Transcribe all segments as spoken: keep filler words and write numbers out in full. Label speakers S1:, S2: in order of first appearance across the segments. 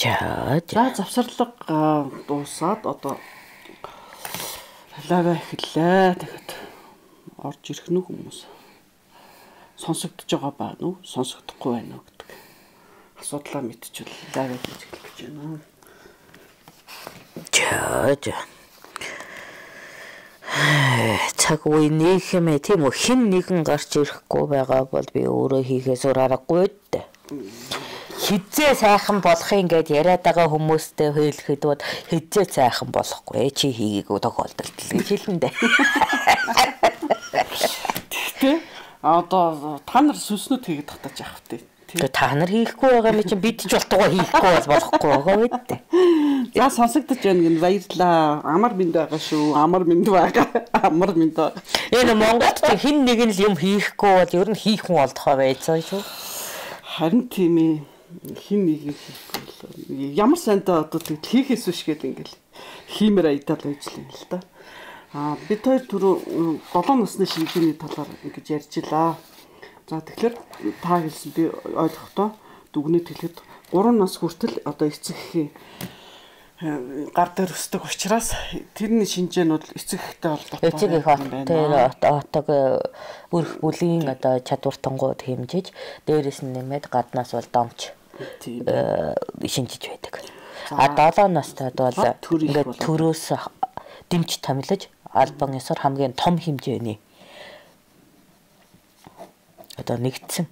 S1: За завсарлага дуусаад одоо лава эхэллээ. Тэгэхэд орж ирэх нь хүмүүс сонсогдож байгаа байна уу? Сонсогдохгүй байна уу гэдэг асуудлаа мэдчихвэл лава хийж эхлэх гэж байна. За цаг үе нийгэмээ тийм үү хэн нэгэн гарч ирэхгүй байгаа бол би өөрөө хийхээс өөр аргагүй дээ. Хизээ сайхан болохын гэд яриад байгаа хүмүүстэй хэлэхэд бол хизээ сайхан болохгүй чи хийгээгүй тохиолдолд гэж хэлнэ дээ. Тэгтээ одоо та нар сүнснүүд хийгээд татаж явах тий. Тэгээ та нар хийхгүй байгаа юм чинь бид ч болтгоо хийхгүй бол болохгүй байгаа үү. За сонсогдож байна гэн баярлаа. Амар минь байгаа шүү. Амар минь байгаа. Амар минь байгаа. Энэ Монголд хэн нэг нь юм хийхгүй бол ер нь хийх хүн олдохоо байцаа шүү. Харин тийм ээ. Хин нэг хийхгүй. Ямар сандаа одоо тэг хийхээс биш гээд ингээл хиймээр айдал ажиллана л да. Аа бид хоёр түрүү долоо насны шинжээний талаар ингэж ярьжлаа. За тэгэхээр та хэлсэн би ойлгохдоо дүгнэж хэлэхэд гурван нас хүртэл одоо эцэг эхийн гар дээр өсдөг учраас тэрний шинжээнүүд эцэг эхтэй холбоотой
S2: эцэг их тэр отог өрх бүлийн одоо чадвартангууд хэмжиж дээрэс нь нэмээд гаднаас бол домч шинжиж байдаг. А долоо настайд бол ингээд төрөөс дэмж томилож албан ёсоор хамгийн том хэмжээний одоо нэгдсэн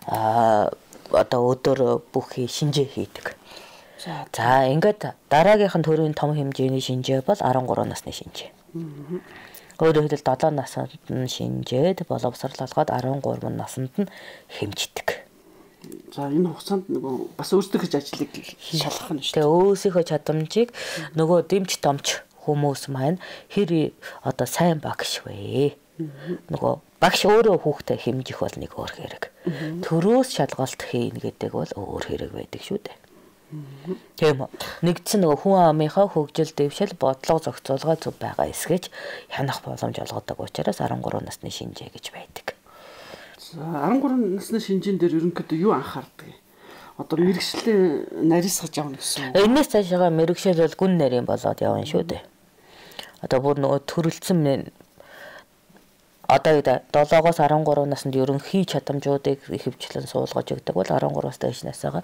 S2: а одоо өдөр бүхий шинжээ хийдэг. За ингээд дараагийнх нь төрийн том хэмжээний шинжээ бол арван гурван насны шинжээ. Өөрөөр хэлбэл долоо наснд нь шинжээд боловсролгоод арван гурван наснд нь хэмждэг.
S1: За энэ хугацаанд нөгөө бас өөрсдөө хийж ажлыг шалгах нь шүү.
S2: Тэгээ өөрсдийнхөө чадамжийг нөгөө дэмж домч хүмүүс маань хэр одоо сайн багш вэ? Нөгөө багш өөрөө хүүхдээ хэмжих бол нэг өөр хэрэг. Төрөөс шалгалт хийн гэдэг бол өөр хэрэг байдаг шүү дээ. Тийм үү. Нэгдсэн нөгөө хүн амынхаа хөгжил дэвшил бодлого зохицуулга зөв байгаа эсгэж хянах боломж олгодог учраас арван гурван насны шинжээ гэж байдаг.
S1: За арван гурван насны шинжийн дээр ерөнхийдөө юу анхаардаг? Одоо мэрэгчлээ нарийсгаж явна гэсэн үг.
S2: Энэс цаашаа мэрэгшил бол гүн нарийн болоод явна шүү дээ. Одоо бүр нөгөө төрөлцсөн одоо долоогоос арван гурван наснд ерөнхий чадамжуудыг ихэвчлэн суулгаж өгдөг бол арван гураваас дээш насаага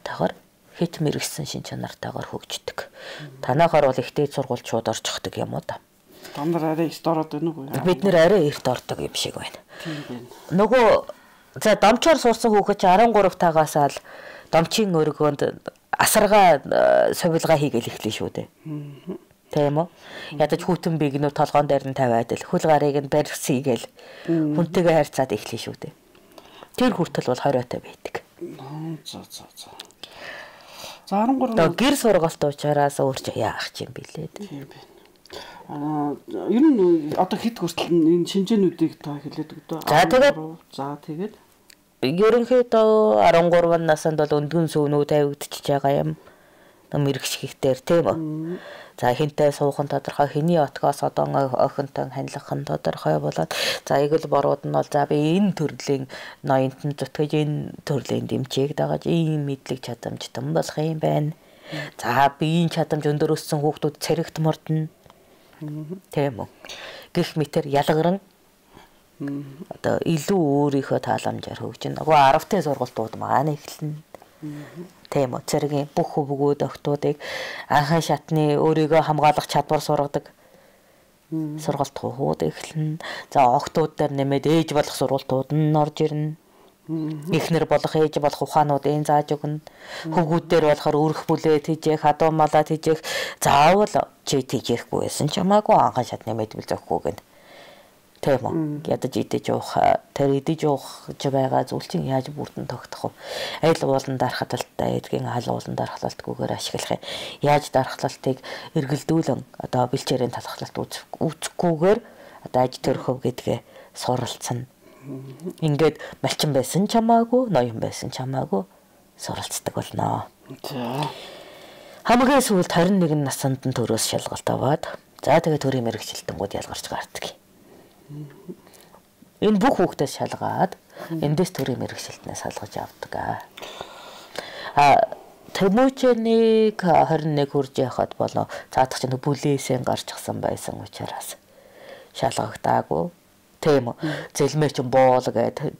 S2: тахаар хит мэрэгсэн шин чанартайгаар хөгждөг. Танахаар бол ихтэй сургууль шууд орчихдаг юм уу та.
S1: Та нар арай эрт ороод байна уу?
S2: Бид нэр арай эрт ордог юм шиг байна.
S1: Тийм байна.
S2: Нөгөө за домчоор сурсан хүүхэд чи арван гурав тагаас л домчийн өргөөнд асаргаа сувилгаа хийгээл эхлэв шүү дээ. Тийм үү? Ядаж хүүтэн бигнүү толгоон дээр нь тавиад л хөл гарыг нь барьсийгээл хүнтэйгээ харьцаад эхлэв шүү дээ. Тэр хүртэл бол хориотой байдаг.
S1: За за за. За арван гурав
S2: гэр сургалт учраас өөрч яах юм бэлээ.
S1: Тийм байна. Аа ер нь одоо хэд хүртэл энэ шинжээнүүдийг та хэлээд өгдөө.
S2: За тэгээд
S1: за тэгээд
S2: ерөнхийдөө арван гурван наснд бол өндгөн сүүнүүд тавигдчихж байгаа юм. Мэрэгшихтэр тийм үү. За хинтээ суухан тодорхой хэний отгоос одоо охинтой ханилах нь тодорхой болоод за эгэл борууд нь бол за би энэ төрлийн ноёнтон зүтгэж энэ төрлийн дэмжээг дагаж ийм мэдлэг чадамжтай болох юм байна. За биеийн чадамж өндөр өссөн хүүхдүүд цэрэгт мордно. Тийм үү. Гэх мэтэр ялгаран одоо илүү өөрийнхөө тааламжаар хөгжинэ. Нөгөө аравтын сургалтууд маань эхэлнэ. Тийм үү. Цэргийн бүх хөвгүүд охтуудыг анхны шатны өөрийгөө хамгаалах чадвар сургадаг сургалт хууд эхэлнэ. За охтууд дээр нэмээд ээж болох сургалтууд нь орж ирнэ. Эхнэр болох ээж болох ухаануудын зааж өгнө. Хөвгүүд дээр болохоор өрх бүлээд хийжээх, хадуу малаад хийжээх заавал чи тийжэхгүй байсан ч хамаагүй анхны шатны мэдвэл зөхгүй гэнэ. Тийм үү. Ядаж идэж уух, тэр идэж уух ч байгаа зүйл чинь яаж бүрдэн тогтох вэ? Айл уулан дархлалтай эдгийн хал уулан дархлалтгүйгээр ашиглах юм. Яаж дархлалтыг эргэлдүүлэн одоо бэлчээрийн талхлалт үүсэхгүйгээр одоо аж төрхөв гэдгээ суралцсан. Ингээд малчин байсан ч хамаагүй, ноён байсан ч хамаагүй суралцдаг болно.
S1: За.
S2: Хамгийн сүүлд харин нэгэн насанд нь төрөөс шалгалт аваад за тэгээ төрийн мэрэгчлэлтэнгүүд ялгарч гардаг. Энэ бүх хүүхдээс шалгаад эндээс төрийн мэрэгчлэлтнээс салгаж авдаг. А Тэмүүчэнийг хорин нэг хүрж яхад болоо цаадах чинь бүлээсээ гарч гсан байсан учраас шалгагдаагүй. Тийм үү. Зэлмээ чинь боол гэдэг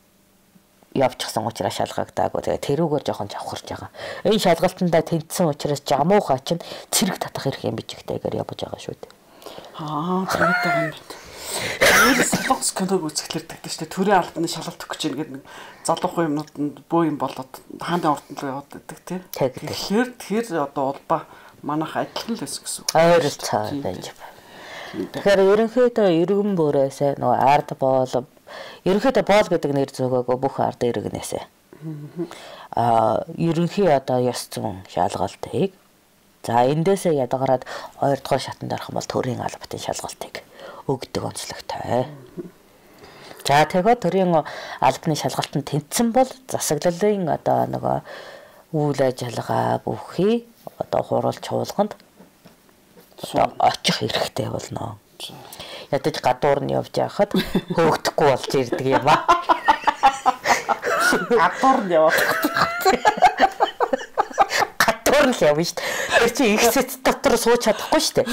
S2: явчихсан учраас шалгагдаагүй. Тэгээ тэрүүгээр жоохон завхарч байгаа. Энэ шалгалтандаа тэнцсэн учраас жамуухаа чинь цэрэг татах хэрэг юм бичигтэйгээр явж байгаа шүү дээ.
S1: Аа, тэгээд байгаа юм байна. Тэр солонгос киног үзэхлээр тэгдэж штэ төрийн албаны шалгалт өгч ийн гэдэг нэг залуухан юмнууд бөө юм болоод хааны ордон руу яваад байдаг тийм. Тэгэхээр тэр одоо улбаа манайх адилхан л байсан гэсэн үг.
S2: Ойр цаа байж байна. Тэгэхээр ерөнхийдөө иргэн бүрээсээ нөгөө ард боол ерөнхийдөө боол гэдэг нэр зөөгөө бүх ард иргэнээсээ. Аа ерөнхий одоо ёс зүйн шалгалтыг за эндээсээ ядгараад хоёр дахь шатанд орох юм бол төрийн албатын шалгалтыг өгдөг онцлогтой. За тэгээд төрийн албаны шалгалтанд тэнцсэн бол засаглалын одоо нөгөө үйл ажиллагаа бүхий одоо хуралч хуулганд очих хэрэгтэй болно. Ядаж гадуур нь явж байхад хөөгдөхгүй болж ирдэг юм аа.
S1: Гадуур нь явах.
S2: Гадуур нь явна шүү дээ. Тэр чи их сэт дотор сууж чадахгүй шүү дээ.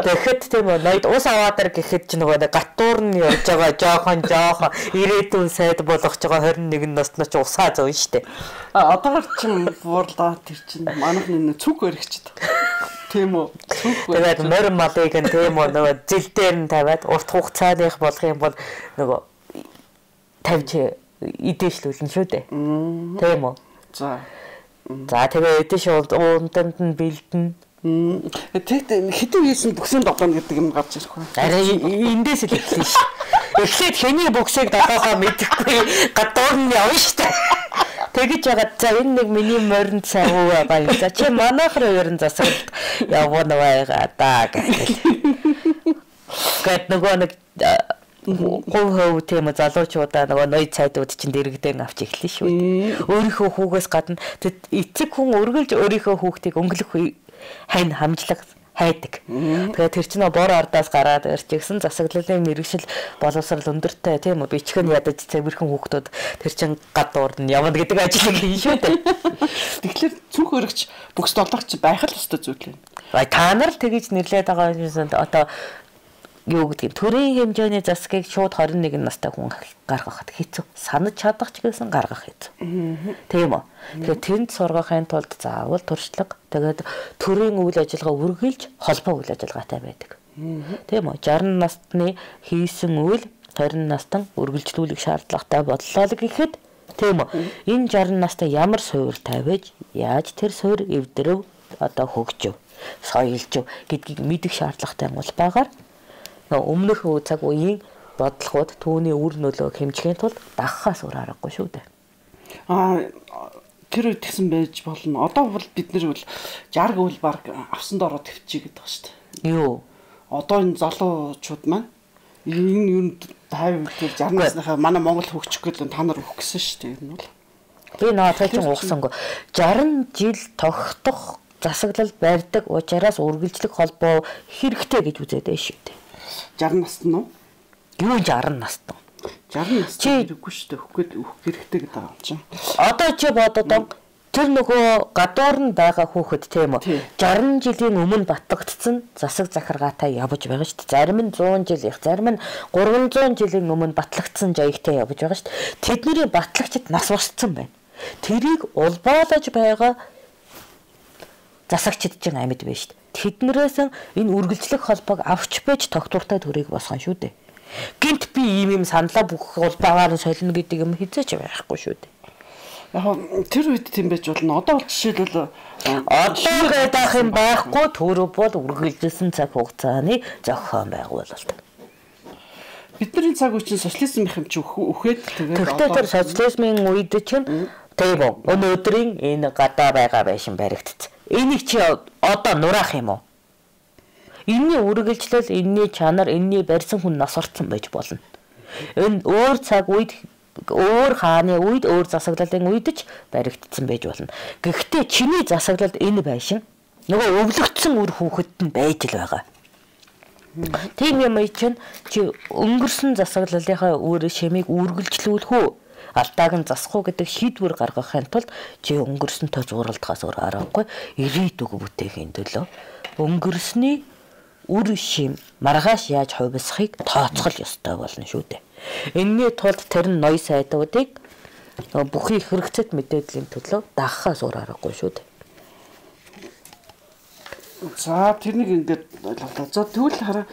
S2: Тэгэхэд тийм үү ноёд ус аваадар гэхэд чи нөгөө гадуур нь явж байгаа жоохон жоохон ирээдүйн сайд болгож байгаа хорин нэгэн наснаа чи усаа зовно шүү дээ.
S1: А одоогор чи буурлаа тэр чинь манайх нэг цүг өргөчд. Тийм үү.
S2: Тэгээд морин малыг нь тийм үү нөгөө зил дээр нь тавиад урт хугацааных болгох юм бол нөгөө тавьж идэвшлүүлнэ шүү дээ. Тийм үү.
S1: За.
S2: За тэгээ эдэш уунданд нь бэлдэн.
S1: Тэгэд хэдэн хийсэн бүксийн догоно гэдэг юм гарч ирэх вэ?
S2: Арай эндээс л эхлэв шүү. Эхлээд хэний бүксийг догоогоо мэдэхгүй гадуур нь явна шүү. Тэгэж ягаад за энэ нэг миний морин цай уу байгаа юм. За чи манайх руу ерэн засаглалт явна байгаа даа гэх. Гэт нөгөө нэг гов хөв тийм залуучуудаа нөгөө ноёд цайдууд чинь дэрэгдэн авч эхлэв шүү. Өөрийнхөө хүүгээс гадна эцэг хүн өргөлж өөрийнхөө хүүхдийг өнгөлөх хань хамжлаг хайдаг. Тэгээд тэр чинь бор ардаас гараад ирчихсэн засаглалын мэрэгшил боловсрал өндөртэй тийм үү бичгэн ядаж цэвэрхэн хүүхдүүд тэр чинь гадуур нь явна гэдэг ажил юм шүү дээ.
S1: Тэгэхээр цүнх өргөч бүкс долоогч байх л өстой зүйл юм.
S2: Бай та нар л тэгэж нэрлээд байгаа юм одоо юу гэдгийг төрийн хэмжээний засгийг шууд хорин нэгэн настай хүн гаргахад хэцүү. Санаж чадах ч гэсэн гаргах хэцүү. Тийм үү. Тэгэхээр тэнд сургахын тулд заавал туршлага тэгээд төрийн үйл ажиллагаа үргэлж холбоо үйл ажиллагаатай байдаг. Тийм үү. шарх насны хийсэн үйл хорин настан үргэлжлүүлэх шаардлагатай боллоо л гэхэд тийм үү. Энэ шарх настай ямар суурь тавьж яаж тэр суурь эвдрөв одоо хөгжөв соёлжв гэдгийг мэдэх шаардлагатай улбаагаар өмнөх цаг үеийн бодлогууд түүний үр нөлөөг хэмжихийн тулд дагахаас өөр аргагүй шүү дээ.
S1: Аа тэр үед тэгсэн байж болно. Одоо бол бид нэр бол шарх үйл баг авсан дороо төвчий гэдэг ба шүү дээ.
S2: Юу?
S1: Одоо энэ залуучууд маань энэ юу тавь тэр шарх насныхаа манай Монгол хөгжих гэдэг та нар өгөх гэсэн шүү дээ. Энэ бол
S2: би наадах чинь угсангүй. шарх жил тогтох засаглал барьдаг учраас үргэлжлэх холбоо хэрэгтэй гэж үзээд байна шүү дээ.
S1: шарх настай нь уу?
S2: Юу шарх настай?
S1: шарх настай хэрэггүй шүү дээ. Өгөх гээд өгөх хэрэгтэй гэдэг байгаа юм чинь.
S2: Одоо чи бодоод тэр нөгөө гадуур нь байгаа хүүхэд тийм үү? шарх жилийн өмнө батлагдсан засаг захиргаатай явж байгаа шүү дээ. Зарим нь зуун жил их, зарим нь гурван зуун жилийн өмнө батлагдсан жаягтай явж байгаа шүү дээ. Тэдний батлагчид нас барсан байна. Тэрийг улбаалаж байгаа засагчид чинь амьд байна шүү дээ. Тэднэрээс энэ үргэлжлэх холбоог авч байж тогтвортой төрийг босгоно шүү дээ. Гинт би ийм юм саналаа бүх улбаагаар нь солино гэдэг юм хизээч байхгүй шүү дээ.
S1: Яг тэр үед тийм байж болно. Одоо бол жишээлбэл
S2: одоо гэдэг юм байхгүй төрөв бол үргэлжилсэн цаг хугацааны зохион байгуулалт.
S1: Бидний цаг үе чинь социализм их юм чи үхээд тэгээд
S2: одоо тэр социализмын үед чинь тийм үү өнөөдрийн энэ гадаа байгаа байшин баригдсан. Энийг чи одоо нураах юм уу? Энийний үргэлжлэл, энийний чанар, энийний барьсан хүн нас орсон байж болно. Энэ өөр цаг үед, өөр хааны үед, өөр засаглалын үед ч баригдсан байж болно. Гэхдээ чиний засаглалд энэ байшин нөгөө өвлөгдсөн үр хүүхэд нь байж л байгаа. Тийм юм чинь чи өнгөрсөн засаглалынхаа үр шимийг үргэлжлүүлэх үү? алдааг нь засах уу гэдэг шийдвэр гаргахын тулд чи өнгөрсөнтэй зуралдахаас өөр аргагүй ирээдүг бүтээхийн төлөө өнгөрсний үр шим маргааш яаж хувилсахыг тооцох ёстой болно шүү дээ. Энэний тулд тэр нь ноён сайдуудыг бүхий хэрэгцээт мэдээллийн төлөө дагахаас өөр аргагүй шүү дээ.
S1: За тэрнийг ингээд ойлголоо. За тэгвэл хараа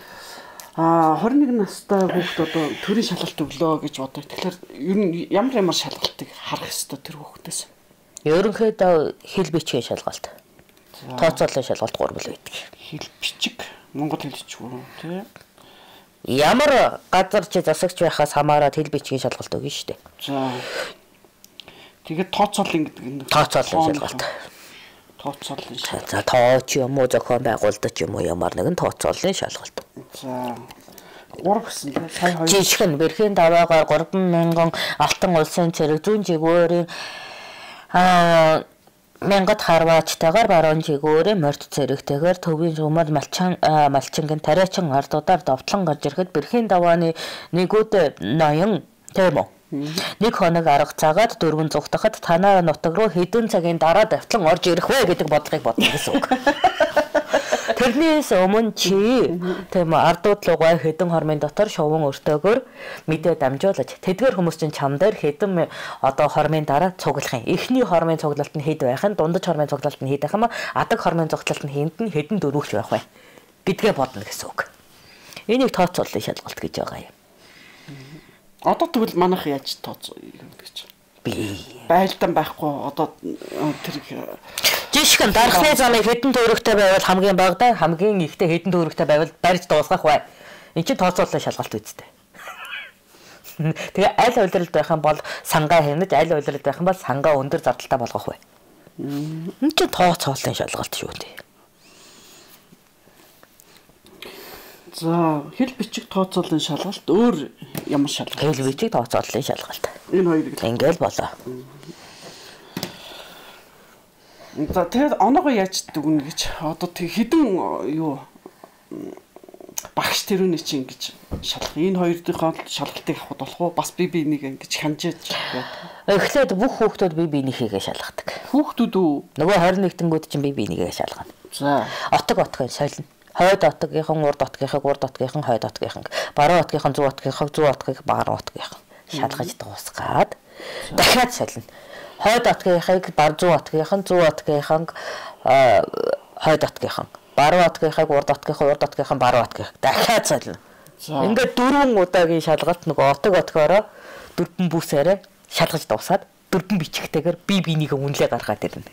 S1: а двадцать один настай хүүхд одоо төрийн шалгалт өглөө гэж бодоо. Тэгэхээр ер нь ямар ямар шалгалтыг харах ёстой тэр хүүхдээс?
S2: Ерөнхийдөө хэл бичгийн шалгалт. Тооцоолын шалгалт гурвал байдаг.
S1: Хэл бичиг, монгол хэл бичиг тий.
S2: Ямар газар чи засагч байхаас хамаарат хэл бичгийн шалгалт өгнө шүү дээ.
S1: За. Тэгээд тооцоолын гэдэг нь
S2: тооцоолын шалгалт.
S1: Тооцоолын шалгалт.
S2: За тооч юм уу зохион байгуулалт юм уу ямар нэгэн тооцоолын шалгалт.
S1: За. Гурав гэсэн тийм сая хоёр.
S2: Жишг нь бэрхийн даваагаар гурван мянган алтан улсын цэрэг зүүн жигүүрийн аа мянгад харваачтайгаар баруун жигүүрийн морд цэрэгтэйгээр төвийн жумал малчин малчингийн тариачин ардуудаар довтлон гарч ирэхэд бэрхийн давааны нэгүүд ноён тийм үү. Нэг хоног арга цагаад дөрвөн зүгтахад танаа нутаг руу хэдэн цагийн дараа давтлан орж ирэх вэ гэдэг бодлогыг бодно гэсэн үг. Тэрнээс өмнө чи тийм ардууд лугай хэдэн хормын дотор шуван өртөөгөр мэдээ дамжуулж тэдгээр хүмүүс чинь чам дээр хэдэн одоо хормын дараа цуглах юм. Эхний хормын цуглалт нь хэд байх нь, дундаж хормын цуглалт нь хэд байх юм, адаг хормын цуглалт нь хэнд нь хэдэн дөрвөгч байх вэ гэдгээ бодно гэсэн үг. Энийг тооцооллын шалгалт гэж байгаа юм.
S1: Одоо тэгвэл манайх яаж тооцоо гэж
S2: би
S1: байлдан байхгүй одоо тэр
S2: жишг нь дархлын замыг хэдэн төгрөгтэй байвал хамгийн багадаа хамгийн ихтэй хэдэн төгрөгтэй байвал барьж дуусгах бай. Энд чинь тооцооллын шалгалт үстэй. Тэгээ аль улиралд байх юм бол сангаа хэмнэж аль улиралд байх юм бол сангаа өндөр зардалтай болгох бай. Энд чинь тооцооллын шалгалт шүү дээ.
S1: За хэл бичиг тооцооллын шалгалт өөр ямар шалгалт?
S2: Хэл бичиг тооцооллын шалгалт.
S1: Энэ хоёрыг
S2: ингээл болоо.
S1: За тэгээд оноогоо яаж дүгнэ гэж одоо тэг хідэн юу багш тэрүүний чинь ингэж шалгах. Энэ хоёрын шалгалтыг авах болох уу? Бас би би нэг ингэж ханжиж яа.
S2: Эхлээд бүх хүүхдүүд би биенийхээ шалгадаг.
S1: Хүүхдүүд үү?
S2: Нөгөө двадцать один тэнгүүд чинь би биенийгээ шалгана.
S1: За.
S2: Отог отгоо солино. Хойд отгийнхан, урд отгийнхан, урд отгийнхан, хойд отгийнхан, баруун отгийнхан, зүүн отгийнхан, зүүн отгийнхан, баруун отгийнхан шалгаж дуусгаад дахиад солино. Хойд отгийнхыг бар зүүн отгийнхан, зүүн отгийнхан, хойд отгийнхан, баруун отгийнхыг урд отгийнхан, урд отгийнхан, баруун отгийнхан дахиад солино. Ингээд дөрвөн удаагийн шалгалт нөгөө отог отгоороо дөрвөн бүсээрээ шалгаж дуусаад дөрвөн бичгтэйгээр би бинийгээ үнэлээ гаргаад ирнэ.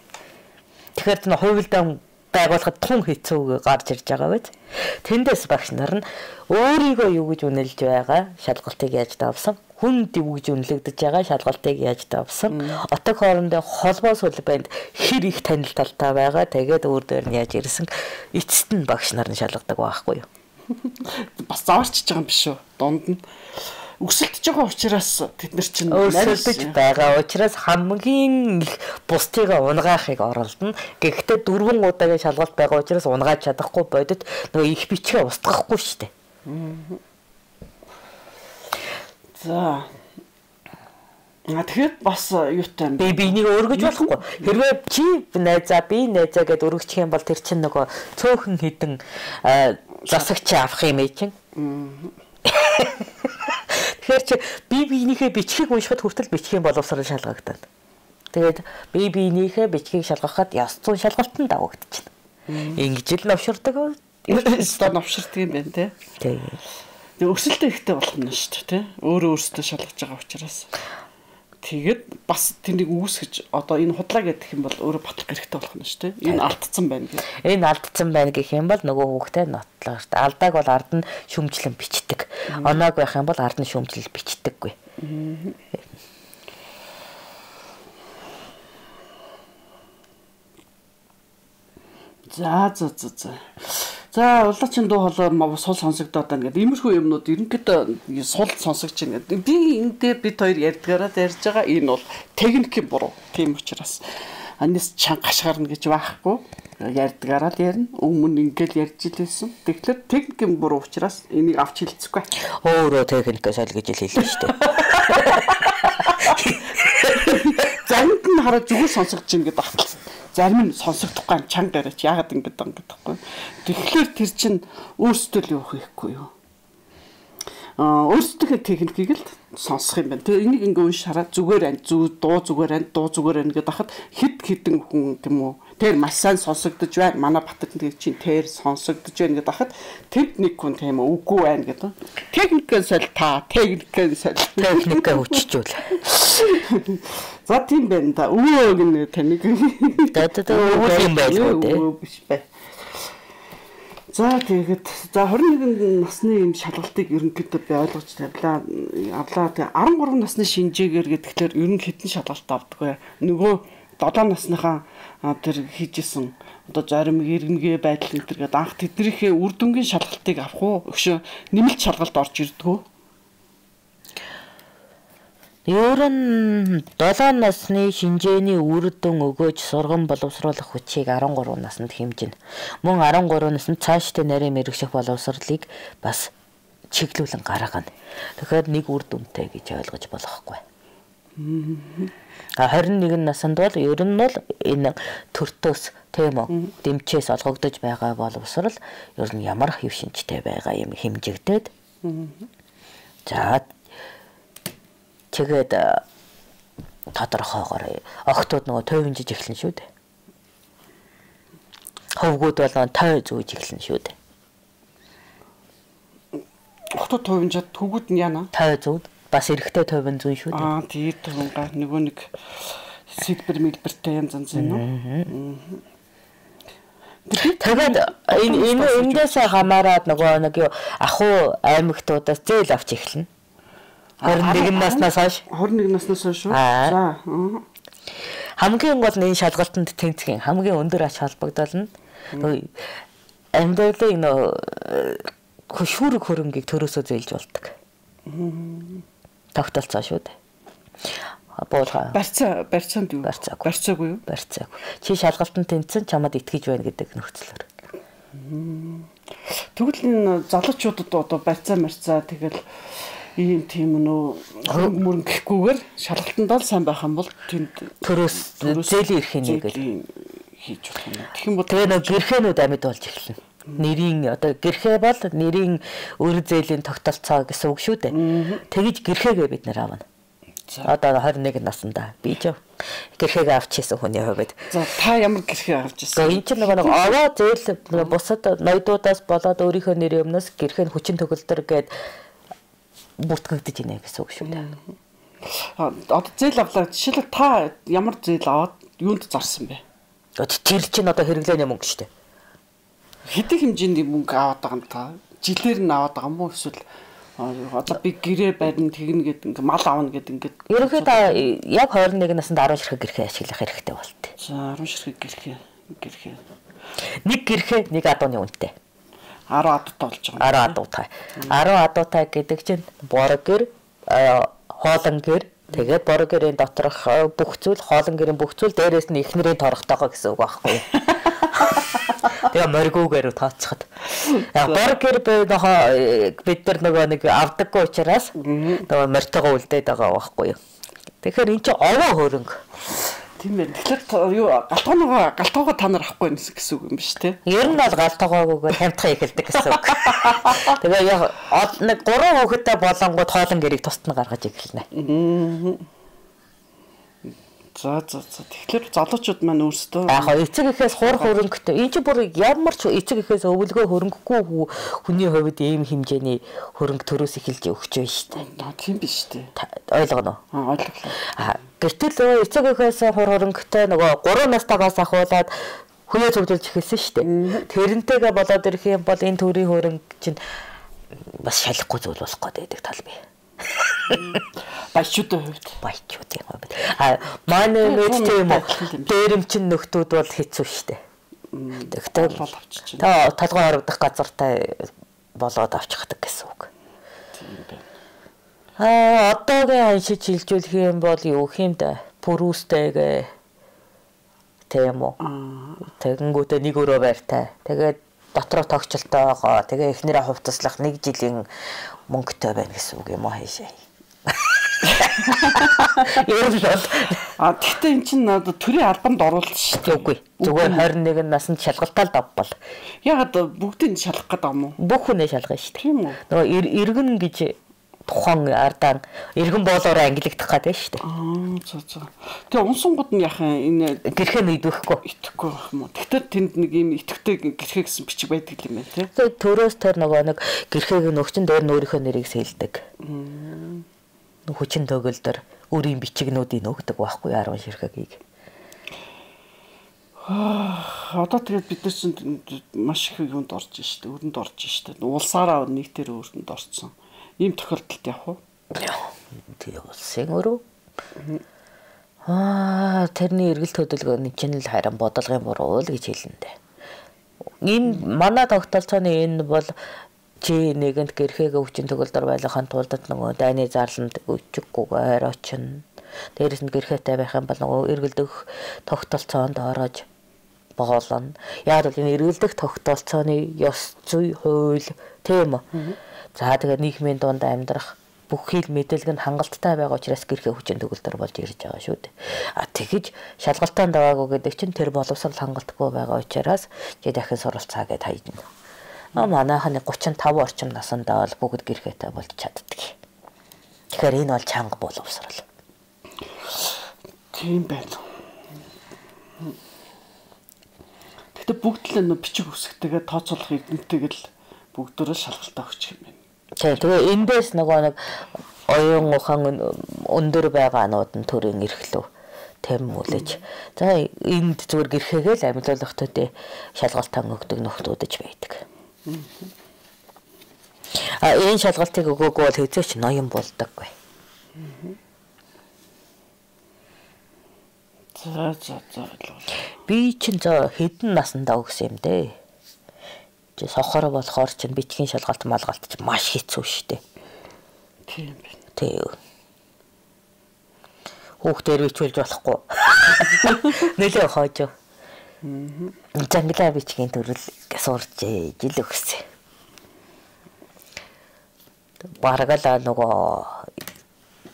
S2: Тэгэхээр тэр хувилдаан байгуулахад тун хэцүү гарч ирж байгаа биз. Тэндээс багш нар нь өөрийгөө юу гэж үнэлж байгаа шалгалтыг яаж давсан, хүнд юу гэж үнэлэгдэж байгаа шалгалтыг яаж давсан, отог хоорондоо холбоо сүлбэнд хэр их танил талтай байгаа, тэгээд өөр дээр нь яаж ирсэн эцэст нь багш нар нь шалгадаг байхгүй юу.
S1: Бас заварчж байгаа юм биш үү? Дунд нь өсөлдөж байгаа учраас тэд нар чинь
S2: өсөлдөж байгаа учраас хамгийн их бусдыгаа унгаахыг оролдоно. Гэхдээ дөрвөн удаагийн шалгалт байгаа учраас унгааж чадахгүй бодит нөгөө их бичгээ устгахгүй шүү дээ.
S1: За. А тэгэхээр бас юутай
S2: би бинийг өргөж болохгүй. Хэрвээ чи найзаа би найзаа гэд өргөчих юм бол тэр чинь нөгөө цөөхөн хідэн засагч авах юм чинь. Тэгэхээр чи би биенийхээ бичгийг уншихад хүртэл бичгийн боловсрол шалгагдана. Тэгээд би биенийхээ бичгийг шалгахад ёс зүйн шалгалтанд давагдчихна. Ингэж л новширдаг.
S1: Өөрөөсөө новширдаг юм байна те.
S2: Тийм.
S1: Тэг өсөлтөө ихтэй болох нь шүү дээ те. Өөрөө өөртөө шалгаж байгаа учраас. Тэгээд бас тэнийг үүсгэж одоо энэ худлаа гэдэг юм бол өөрөө батлах хэрэгтэй болох нь шүү дээ. Энэ алдсан байна гэх.
S2: Энэ алдсан байна гэх юм бол нөгөө хүүхдээ нотлоо шүү дээ. Алдааг бол ард нь шүмжлэн бичдэг. Оноог байх юм бол ард нь шүмжлэл бичдэггүй.
S1: За за за за. За улаачин дуу хоолой сул сонсогдоод байна гэдэг. Иймэрхүү юмнууд ерөнхийдөө сул сонсогч байна гэдэг. Би энэ дээр бид хоёр ярьдгаараа ярьж байгаа. Энэ бол техникийн буруу. Тийм учраас анис чанга хашгаарна гэж байхгүй. Ярьдгаараа л ярина. Өмнө ингээл ярьж илсэн. Тэгэхээр техникийн буруу учраас энийг авч хэлцэхгүй.
S2: Өөрөө техникээс аль гэж хэлсэн шүү дээ.
S1: Заримд нь хараа зүгээр сонсогдож ийн гэдэг батал. Зарим нь сонсогдохгүй чанга яриач яагаад ингэж байгаа юм гэдэггүй. Тэгэхээр тэр чинь өөрсдөө л юу хийхгүй юу? Аа өөрсдөө техникийг л сонсох юм байна. Тэгээ энийг ингээ унш хараад зүгээр ань зүг дуу зүгээр ань дуу зүгээр ань гэдэг хахад хэд хэдэн хүн тийм үү тэр маш сайн сонсогдож байна. Манай Батэрд тэр чинь тэр сонсогдож байна гэдэг хахад тэд нэг хүн тийм үү үгүй байна гэдэг. Техникээ соль та техникээ соль
S2: техникээ хүчжүүл.
S1: За тийм байна да. Өвөө гэнэ таник.
S2: Дэтэд өвөө юм байлгүй дээ.
S1: Биш бай. За тэгээд за хорин нэгэн насны юм шалгалтыг ерөнхийдөө би ойлгож тавилаа. Авлаа тэг арван гурван насны шинжээгээр гэдгээр ер нь хэдэн шалгалт авдаг вэ? Нөгөө долоо насныхаа тэр хийжсэн одоо зарим иргэнгээ байдал энэ төр гэдэг анх тэднийхээ үр дүнгийн шалгалтыг авах уу? Өгшөө нэмэлт шалгалт орж ирдэг үү?
S2: Ер нь долоо насны шинжээний үр дүн өгөөж сургам боловсруулах хүчийг арван гурван наснд хэмжинэ. Мөн арван гурван наснд цаашдаа нарийн мэрэгших боловсролыг бас чиглүүлэн гаргана. Тэгэхээр нэг үр дүнтэй гэж ойлгож болохгүй. А харин нэгэн наснд бол ер нь бол энэ төртөөс тийм үү дэмчээс олгогдож байгаа боловсрол ер нь ямар хэв шинжтэй байгаа юм хэмжигдээд. За тэгээд тодорхойгоор охтууд нөгөө той хэмжиж эхэлнэ шүү дээ. Ховгууд бол той зүүж эхэлнэ шүү дээ.
S1: Охтууд той хэмжээд хөвгүүд нь яана?
S2: Той зүүд бас эрэгтэй тойвон зүүн шүү дээ.
S1: Аа тэгээд төвнга нөгөө нэг сэлбэр мэлбэртэй янз янз юм уу?
S2: Тэгээд энэ энэ эндээс хамаарад нөгөө нэг ахуу аймагтуудаас зээл авч эхэлнэ. хорин нэгэн наснаас хойш.
S1: хорин нэгэн наснаас хойш шүү. За.
S2: Хамгийн гол нь энэ шалгалтанд тэнцэх хамгийн өндөр ач холбогдол нь амьдралын нөө хөшүүрэг хөрөнгийг төрөөсөө зээлж болдог. Тогтолцоо шүү дээ. Буулга.
S1: Барьцаа барьцаанд юу?
S2: Барьцаагүй.
S1: Барьцаагүй юу?
S2: Барьцаагүй. Чи шалгалтанд тэнцсэн чамд итгэж байна гэдэг нөхцөлөөр.
S1: Тэгвэл энэ залуучуудад одоо барьцаа марцаа тэгэл ийм тийм нөө мөрөн гэхгүйгээр шалгалтанд л сайн байх юм бол тэнд
S2: төрөөс зээлийн эрхийн нэг л
S1: хийж болох юм. Тэгэх юм бол
S2: тэгээ нөө гэрхэнүүд амьд болж эхэлнэ. Нэрийн одоо гэрхээ бол нэрийн өр зээлийн тогтолцоо гэсэн үг шүү дээ. Тэгэж гэрхээгээ бид нэр авна. Одоо хорин нэгэн наснда би ч гэрхээгээ авчихсан хүний хувьд.
S1: За та ямар гэрхээ авч ирсэн?
S2: Энэ чинь нэг овоо зээл бусад ноёдуудаас болоод өөрийнхөө нэрийн өмнөөс гэрхээ хүчин төгөлдөр гээд бүртгэгдэж ийнэ гэсэн үг шүү дээ.
S1: Одоо зээл авлаа. Жишээлбэл та ямар зээл аваад юунд зарсан бэ?
S2: Тэр чинь одоо хэрэглээний мөнгө шүү дээ.
S1: Хэдийн хэмжээний мөнгө аваад байгаа юм та? Жилээр нь аваад байгаа юм уу эсвэл одоо би гэрээ барина тэгнэ гэдэг ингээ мал авна гэдэг ингээ.
S2: Ерөнхийдөө яг хорин нэгэн наснд арван ширхэг гэрхээ ашиглах хэрэгтэй болтой.
S1: За арван ширхэг гэрхээ гэрхээ.
S2: Нэг гэрхээ нэг адууны үнэтэй.
S1: арван адуутай болж байгаа.
S2: арван адуутай. арван адуутай гэдэг чинь борог гэр, хоолон гэр, тэгээд борог гэрийн доторх бүх зүйл, хоолон гэрийн бүх зүйл дээрээс нь эхнэрийн торохтойгоо гэсэн үг байхгүй юу? Тэгээ моргуугаар тооцоход. Яг борог гэр бид нар нөгөө нэг авдаггүй учраас нөгөө мортойгоо үлдээд байгаа байхгүй юу? Тэгэхээр эн чинь овоо хөрөнгө.
S1: Тийм ээ. Тэгэхээр юу галтгооныгоо галтгоогоо та нар авахгүй гэсэн үг юм биш үү?
S2: Ер нь бол галтгоогоо хамтхан эхэлдэг гэсэн үг. Тэгээ яг нэг гурван хүүхэдтэй болонгууд хоолон гэрийг тусад нь гаргаж эхэлнэ.
S1: За за за. Тэгэхээр залуучууд маань өөрсдөө
S2: яг эцэг эхээс хурх хөрөнгөтэй. Энэ чинь бүр ямар ч эцэг эхээс өвлгөө хөрөнгөгүй хүний хувьд ийм хэмжээний хөрөнгө төрөөс эхэлж өгч байна шүү дээ.
S1: Тийм биш үү?
S2: Ойлгоно.
S1: Аа ойлголоо.
S2: Аа гэтэл эцэг эхээс хур хөрөнгөтэй нөгөө гурван настайгаас ахуулаад хүнээ зөвлөж эхэлсэн шүү дээ. Тэрнтэйгээ болоод ирэх юм бол энэ төрийн хөрөнгө чинь бас шалахгүй зүйл болох гэдэг тал бий.
S1: Баячуудын хувьд
S2: баячуудын хувьд а манай мэдтэй юм уу дээрэмчин нөхдүүд бол хэцүү шттэ. Тэгтээ
S1: бол авчиж
S2: та толгой харагдах газартай болоод авчихдаг гэсэн үг.
S1: Тийм байна.
S2: А одоогийн аншиж хилжүүлэх юм бол юу юм да пүрүүстэйгээ тийм үү. Тэгэнгүүтээ нэг өрөө байртай. Тэгээд дотроо тогтчлолтойгоо тэгээ эхнэрээ хувцаслах нэг жилийн мөнгөтэй байна гэсэн үг юм уу хаашаа. Ер нь бол
S1: а тэгтээ эн чинь одоо төрийн албанд оруулах шүү дээ.
S2: Үгүй. Зүгээр хорин нэг насанд шалгалтаа л давбал.
S1: Ягаад бүгдийг шалгах гэдэг юм уу?
S2: Бүх хүнээ шалгана шүү дээ.
S1: Тийм үү?
S2: Нөгөө иргэн гэж тухайн ардаа иргэн боолоор ангилагдах гэдэг шүү дээ.
S1: Аа за за. Тэгээ унсангууд нь яхан энэ
S2: гэрхээ нэгдэхгүй.
S1: Итгэхгүй байх юм уу? Тэгтээ тэнд нэг юм итгэвтэй гэрхээ гэсэн бичиг байдаг юм байна тий.
S2: Тэгээ төрөөс тэр нөгөө нэг гэрхээг нөгчөн дээр өөрийнхөө нэрийг сэлдэг. Хүчин төгөлдөр өөрийн бичигнүүдийг өгдөг байхгүй арван ширхэгийг.
S1: Аа одоо тэгээд бид нар чинь маш их юунд орж штэ, өрөнд орж штэ. Улсаараа нийтээр өрөнд орцсон. Ийм тохиолдолд явах уу?
S2: Тэгээ улсын өрөө. Аа тэрний эргэлт хөдөлгөөний чинь л харин бодлогын буруу л гэж хэлэндэ. Энэ манай тогтолцооны энэ бол чи нэгэнд гэрхээгээ хүчин төгөлдөр байлгахын тулд нөгөө дайны зарланд өчггүйгээр очино. Дээрээс нь гэрхээтэй байх юм бол нөгөө эргэлдэх тогтолцоонд орож боолно. Яг л энэ эргэлдэх тогтолцооны ёс зүй хууль тийм үү? За тэгээд нийгмийн дунд амьдрах бүх хил мэдээлэл нь хангалттай байгаа учраас гэрхээ хүчин төгөлдөр болж ирж байгаа шүү дээ. А тэгэж шалгалтаанд даваагүй гэдэг чинь тэр боловсрол хангалтгүй байгаа учраас чи дахин суралцаа гэд хайдна. А манайхны гучин тав орчим насандаа бол бүгд гэрхээтэй болж чаддаг. Тэгэхээр энэ бол чанга боловсрол.
S1: Тийм байна. Тэгтээ бүгд л нөө бичиг үсгтэйгээ тооцоолох эрдэнэтэйг л бүгдөө шалгалтаа өгчих юм байна.
S2: Тэгээ эндээс нөгөө нэг оюун ухаан өндөр байгаа нууд нь төрийн эрхлөө тэм үлэж. За энд зүгээр гэрхээгээ л амьлуулахтуудыг шалгалтаа өгдөг нөхдүүдэж байдаг. А энэ шалгалтыг өгөөгүй бол хэзээ ч ноён болдоггүй.
S1: За за за.
S2: Би чинь за хэдэн насандаа өгсөн юм дээ. Сохор болохоор чинь бичгийн шалгалт малгалт чинь маш хэцүү шттэ.
S1: Тийм байна.
S2: Тэг. Хүүхдээр бичүүлж болохгүй. Нэлээ хоожоо. Мм. Жанглаа бичгийн төрөл сурч жил өгсөн. Барагала нөгөө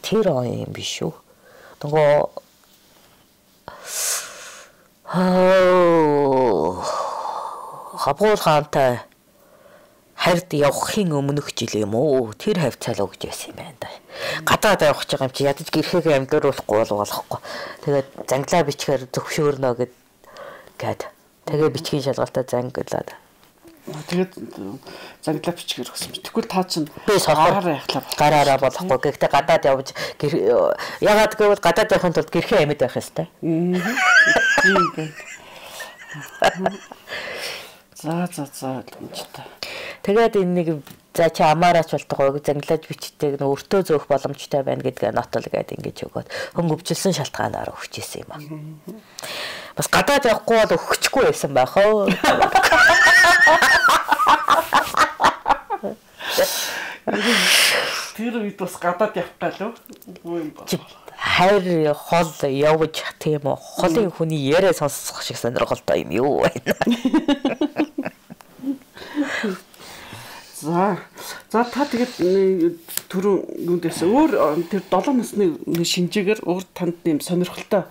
S2: тэр юм биш үү? Нөгөө аа Хабгуул хаантай харьд явахын өмнөх жил юм уу? Тэр хавцаал өгч байсан юм байна да. Гадаад явах гэж байгаа юм чи ядаж гэрхээгээ амьдруулахгүй бол болохгүй. Тэгээд занглаа бичгээр зөвшөөрнө гэд гээд тэгээ бичгийн шалгалтаа занглаад.
S1: Тэгээд занглаа бичгээр өгсөн. Тэгвэл та чинь
S2: би сохороор
S1: яхлаа
S2: гараараа болохгүй. Гэхдээ гадаад явж ягаад гэвэл гадаад явахын тулд гэрхээ амьд байх ёстой.
S1: Тийм байна. За за за гэмжтэй.
S2: Тэгээд энэ нэг за чи амаараач болтгоо занглаж бичдэг нөө өртөө зөөх боломжтой байна гэдгээ нотол гэдэг ингэж өгөөд хөнгөвчлсөн шалтгаанаар өгч ийсэн юм аа. Бас гадаад явахгүй бол өгөхгүй байсан байх оо.
S1: Тэр үед бас гадаад явах галуу. Үгүй юм ба.
S2: Хайр хол явж тийм үү холын хүний яриа сонсох шиг сонирхолтой юм юу байна.
S1: За за та тэгээд түрүү юундээс өөр тэр долоо насны шинжээгээр өөр танд нэм сонирхолтой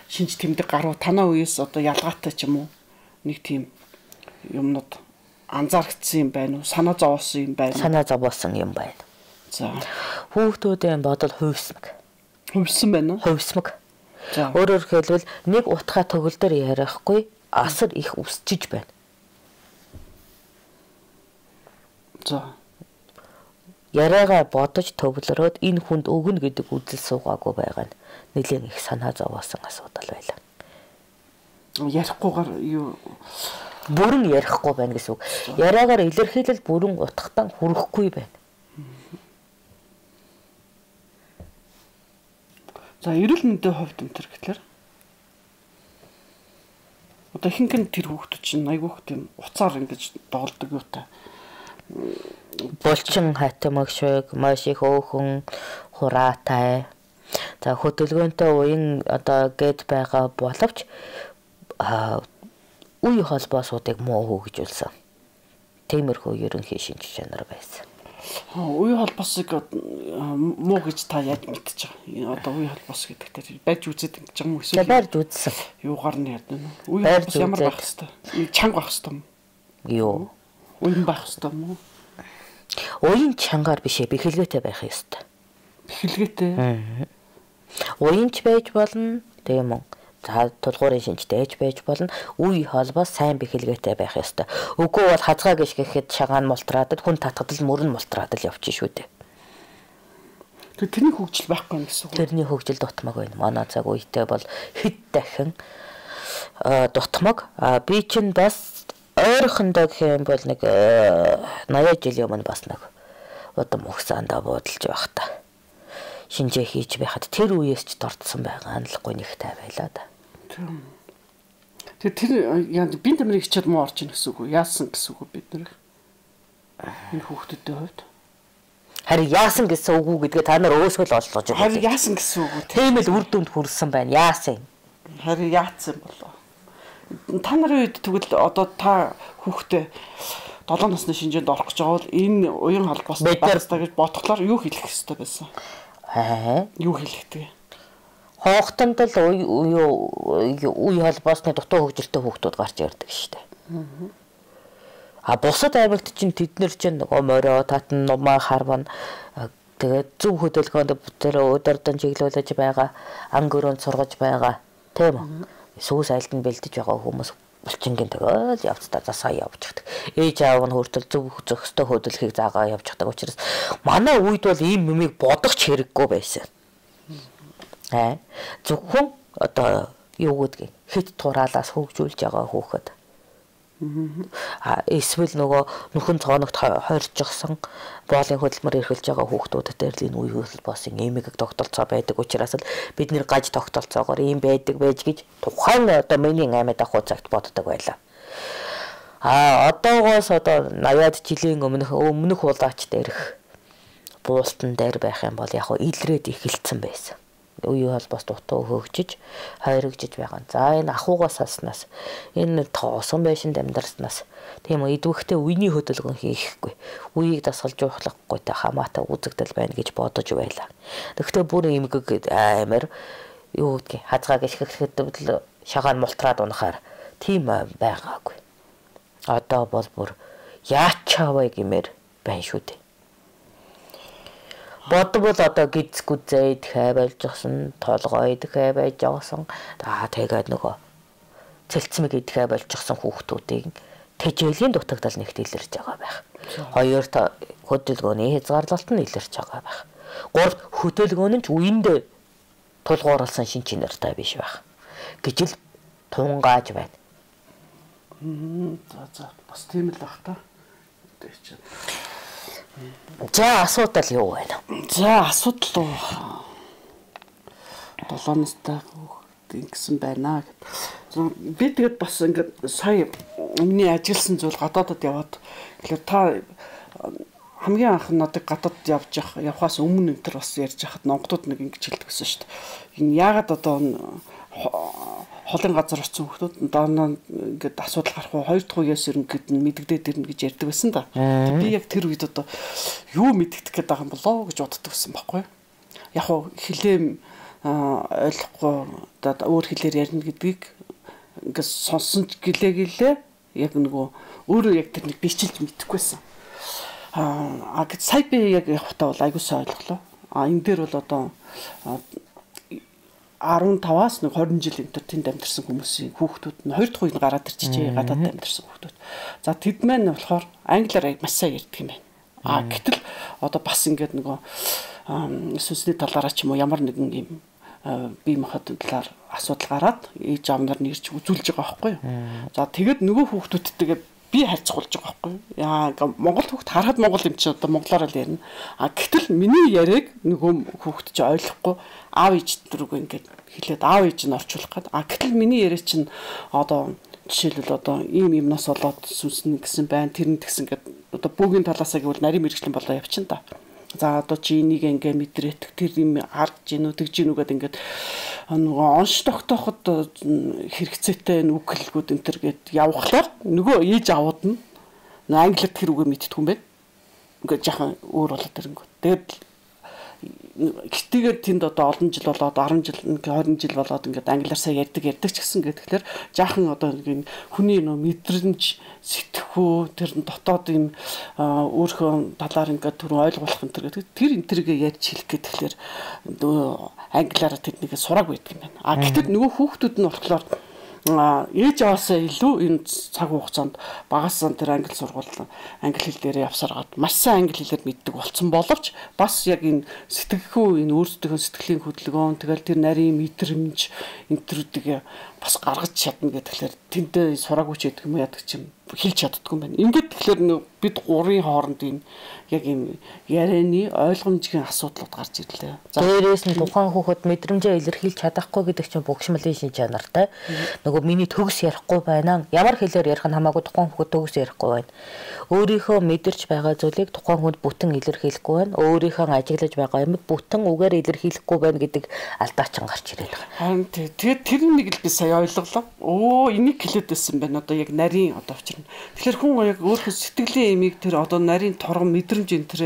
S1: шинж тэмдэг гарав танаа үеэс одоо ялгаатай ч юм уу нэг тийм юмнууд анзаарчихсан юм байна уу санаа зовоосон юм байна
S2: санаа зовоосон юм байна.
S1: За
S2: хүүхдүүдийн бодол хувьсмаг
S1: хувьсан байна уу
S2: хувьсмаг. За өөрөөр хэлбэл нэг утгаа төгөлдөр ярихгүй асар их үсчиж байна.
S1: За
S2: яриагаа бодож төвлөрөөд энэ хүнд өгнө гэдэг үзэл суугаагүй байгаа нь нэлээд их санаа зовоосон асуудал байлаа.
S1: Ярихгүйгээр юу
S2: бүрэн ярихгүй байна гэсэн үг. Яриагаар илэрхийлэл бүрэн утгатан хүрэхгүй байна.
S1: За эрүүл мэндийн хувьд энэ төр гэхэлэр одоо ихэнх нь тэр хүүхдүүд чинь айгүйх тийм уцаар ингэж доолдог юу та.
S2: Булчин хатамаг шиг маш их өөхөн хураатай. За хөдөлгөөнтэй уян одоо гэд байгаа боловч үе холбоосуудыг муу хөгжүүлсэн. Тиймэрхүү ерөнхий шинж чанар байсан.
S1: Үе холбосыг муу гэж та яаж мэдчих вэ? Одоо үе холбос гэдэгтэй барьж үзээд ингэж юм эсвэл
S2: барьж үзсэн.
S1: Юугаар нь яд вэ? Үе холбос ямар байх хэвээр? Чанга байх хэвээр юм.
S2: Юу?
S1: Уян байх хэвээр юм уу?
S2: Уян чангаар биш ээ, бэхэлгээтэй байх ёстой.
S1: Бэхэлгээтэй.
S2: Уянч байж болно, тийм үү? За тулгуурын шинжтэй ээж байж болно. Үе холбоос сайн бэхэлгээтэй байх ёстой. Үгүй бол хазгаа гიშ гэхэд шагаан мултраад хүн татгадал мөрөн мултраад л явчих шүү дээ.
S1: Тэр тэрний хөгжил байхгүй юм гэсэн үг.
S2: Тэрний хөгжил дутмаг байна. Манай цаг үетэй бол хэд дахин дутмаг. А би чинь бас ойрхондоо гэх юм бол нэг наяа жилийн өмнө бас нэг удам ухсаандаа буудалж байх та. Шинжээ хийж байхад тэр үеэс ч дордсон байгаа нь л гонигтай байлаа да.
S1: Тэр тэр яа бинт амрыг хичээд муу орж ийн гэсэн үг үү? Яасан гэсэн үг бид нар энэ хүүхдүүдийн хувьд?
S2: Харин яасан гэсэн үг үү гэдгээ та нар өөсөө л олж байгаа.
S1: Харин яасан гэсэн үг үү?
S2: Тийм л үр дүнд хүрсэн байна. Яасан?
S1: Харин яатсан болоо. Та нарын үед тэгвэл одоо та хүүхдээ долоон насны шинжээнд орох гэж байгаа бол энэ уян холбоос багтаа гэж бодглоор юу хэлэх ёстой байсан?
S2: Аа.
S1: Юу хэлэхтэй?
S2: Хоохтонд л үе холбоосны дутуу хөгжилтэй хүүхдүүд гарч ирдэг шүү дээ. А бусад аймагт чинь тэд нар чинь нөгөө морио татан нумаа харван тэгээд зөв хөдөлгөөнд тэр өдөрдөн чиглүүлж байгаа ангөрөнд сургаж байгаа тийм үү? Сүүс айлд нь бэлдэж байгаа хүмүүс булчингийн тэгэл явцдаа засаа явчихдаг. Ээж аав нь хүртэл зөв зохистой хөдөлгөхийг заагаа явчихдаг учраас манай үед бол ийм юмыг бодох ч хэрэггүй байсан. Аа зөвхөн одоо юу гэдгийг хэд тураалаас хөгжүүлж байгаа хүүхэд. Аа эсвэл нөгөө нүхэн цооногт хойрчихсан боолын хөдөлмөр эрхэлж байгаа хүүхдүүдэд л энэ үе холбоосын эмэг тогтолцоо байдаг учраас л бид нэр гаж тогтолцоогоор ийм байдаг байж гэж тухайн одоо миний аймад ахуй цагт боддог байлаа. Аа одоогоос одоо наяад жилийн өмнөх өмнөх улаач дээрх буултан дээр байх юм бол яг илрээд эхэлсэн байсан. Үе холбоос дутуу хөгжиж хайргажиж байгаа. За энэ ахуйгаас хаснаас энэ тоосон байшинд амьдарснаас тийм үү идвэхтэй үений хөдөлгөөн хийхгүй. Үеийг дасгалж ухлахгүй та хамаатай үзэгдэл байна гэж бодож байлаа. Тэгэхдээ бүр эмгэг амар юу гэдгийг хазгаа гიშгэхэд шагаан мултраад унахаар тийм байгаагүй. Одоо бол бүр яачаавай гэмээр байна шүү дээ. Бодвол одоо гидс гүзээ дахиа болж гсэн толгой дахиа байж явсан. За тэгээд нөгөө цэлцмэг идэхэ болж гсэн хүүхдүүдийн тэжээлийн дутагдал нэгт илэрч байгаа байх. Хоёр та хөдөлгөөний хязгаарлалт нь илэрч байгаа байх. Гурав хөдөлгөөн нь ч үеиндээ тулгуурласан шин чанартай биш байх. Гэж л тунгааж байна.
S1: За за бас тийм л бах та.
S2: За асуудал юу байна?
S1: За асуудал уу? долоон настай ингэсэн байна гэд. Би тэгээд бас ингээд сая өмнө ажилласан зүйл гадаадад яваад тэгэхээр та хамгийн анх надад гадаад явж явахаас өмнө энэ төр бас ярьж хахад номгодууд нэг ингэж хэлдэг гэсэн шүү дээ. Энэ яагаад одоо холын газар очсон хүмүүс дооноо ингээд асуудал гарах уу хоёр дахь үеэс ерөнхийд нь мэддэгдээд ирнэ гэж ярьдаг байсан да. Би яг тэр үед одоо юу мэддэгдэх гээд байгаа юм болоо гэж боддог байсан байхгүй. Яг хуу хэлэм ойлгохгүй одоо өөр хэлээр ярина гэдгийг ингээд сонсон ч гэлээ гэлээ яг нөгөө өөрөө яг тэр нэг бичилж мэдэхгүйсэн. Аа гэт сая би яг явахтаа бол айгуусаа ойлголоо. А энэ дээр бол одоо арван таваас нэг хорин жил энэ тэнд амьдарсан хүмүүсийн хүүхдүүд нь хоёр дахь үеийг гараад ирчихээ гадаад амьдарсан хүүхдүүд. За тэд маань болохоор англиар маш сайн ярьдаг юм байна. А гэтэл одоо бас ингээд нөгөө сүнсний талаараа ч юм уу ямар нэгэн юм бие махбодын талаар асуудал гараад ээж аав нар нэрч үзүүлж байгаа байхгүй юу. За тэгээд нөгөө хүүхдүүдтэйгээ би харьцуулж байгаа байхгүй юу. Яа Монгол хүүхд харахад монгол юм чи одоо монголоор л ярина. А гэтэл миний яриаг нөгөө хүүхд чи ойлгохгүй аав ээж дөрөв ингээд хэлээд аав ээж нь орчуулах гээд. А гэтэл миний яриа чинь одоо жишээлбэл одоо ийм юмнаас болоод сүнснэ гэсэн байна. Тэр нь тэгсэн гээд одоо бүгийн талаасаа гэвэл нарийн мэрэгчлэн болоо явчихна та. За одоо чи энийг ингээ мэдрээт тэр юм харж гин үү тэгж гин үгээд ингээд нөгөө онш тогтооход хэрэгцээтэй үг хэлгүүд энэ төр гээд явхлаар нөгөө ээж авууд нь англиар тэр үгээ мэддэг юм байна. ингээд жаахан өөр болоод ирэнгүү. Тэгээд гитгээд тэнд одоо олон жил болоод десять жил двадцать жил болоод ингээд англиар сайн ярьдаг ярьдаг ч гэсэн ингээд тэгэхээр жаахан одоо нэг хүний нөө мэдрэмж сэтгэхүй тэр дотоод юм өөрхөн талаар ингээд түр ойлгуулах энэ төр гэдэг тэр энэ төргээ ярьж хэлэх гээд тэгэхээр англиараа тэднийг сураг байдаг юм байна. А гэтэл нөгөө хүүхдүүд нь болохоор ээж аваасаа илүү энэ цаг хугацаанд багасаа тэр англи сургууль англи хэл дээр явсараад маш сайн англи хэлээр мэддэг болсон боловч бас яг энэ сэтгэхүй энэ өөрсдөө сэтгэлийн хөдөлгөөн тэгэл тэр нарийн мэдрэмж энтрүүдийг бас гаргаж чадна гэхэлэр тэнтэй сураагүй ч гэдэг юм яадаг чим хэлж чаддгүй юм байна. Ингээд тэгэхээр бид гурийн хооронд энэ яг юм ярианы ойлгомжийн асуудлууд гарч ирлээ.
S2: Дээрээс нь тухайн хүүхэд мэдрэмжээ илэрхийлж чадахгүй гэдэг чинь богшмолын шин чанартай. Нөгөө миний төгс ярихгүй байна. Ямар хэлээр ярих нь хамаагүй тухайн хүүхэд төгс ярихгүй байна. Өөрийнхөө мэдэрч байгаа зүйлийг тухайн хүнд бүтэн илэрхийлэхгүй байна. Өөрийнхөө ажиглаж байгаа юмыг бүтэн үгээр илэрхийлэхгүй байна гэдэг алдаачин гарч ирээд байгаа.
S1: Харин тэгээд тэр нэг л би сая ойлголоо. Оо энийг хэлээд байсан байна. Одоо яг нарийн одоо учир нь. Тэгэхээр хүн яг өөрийнхөө сэтгэлийн имийг тэр одоо нарийн торгон мэдрэмж энэ тэр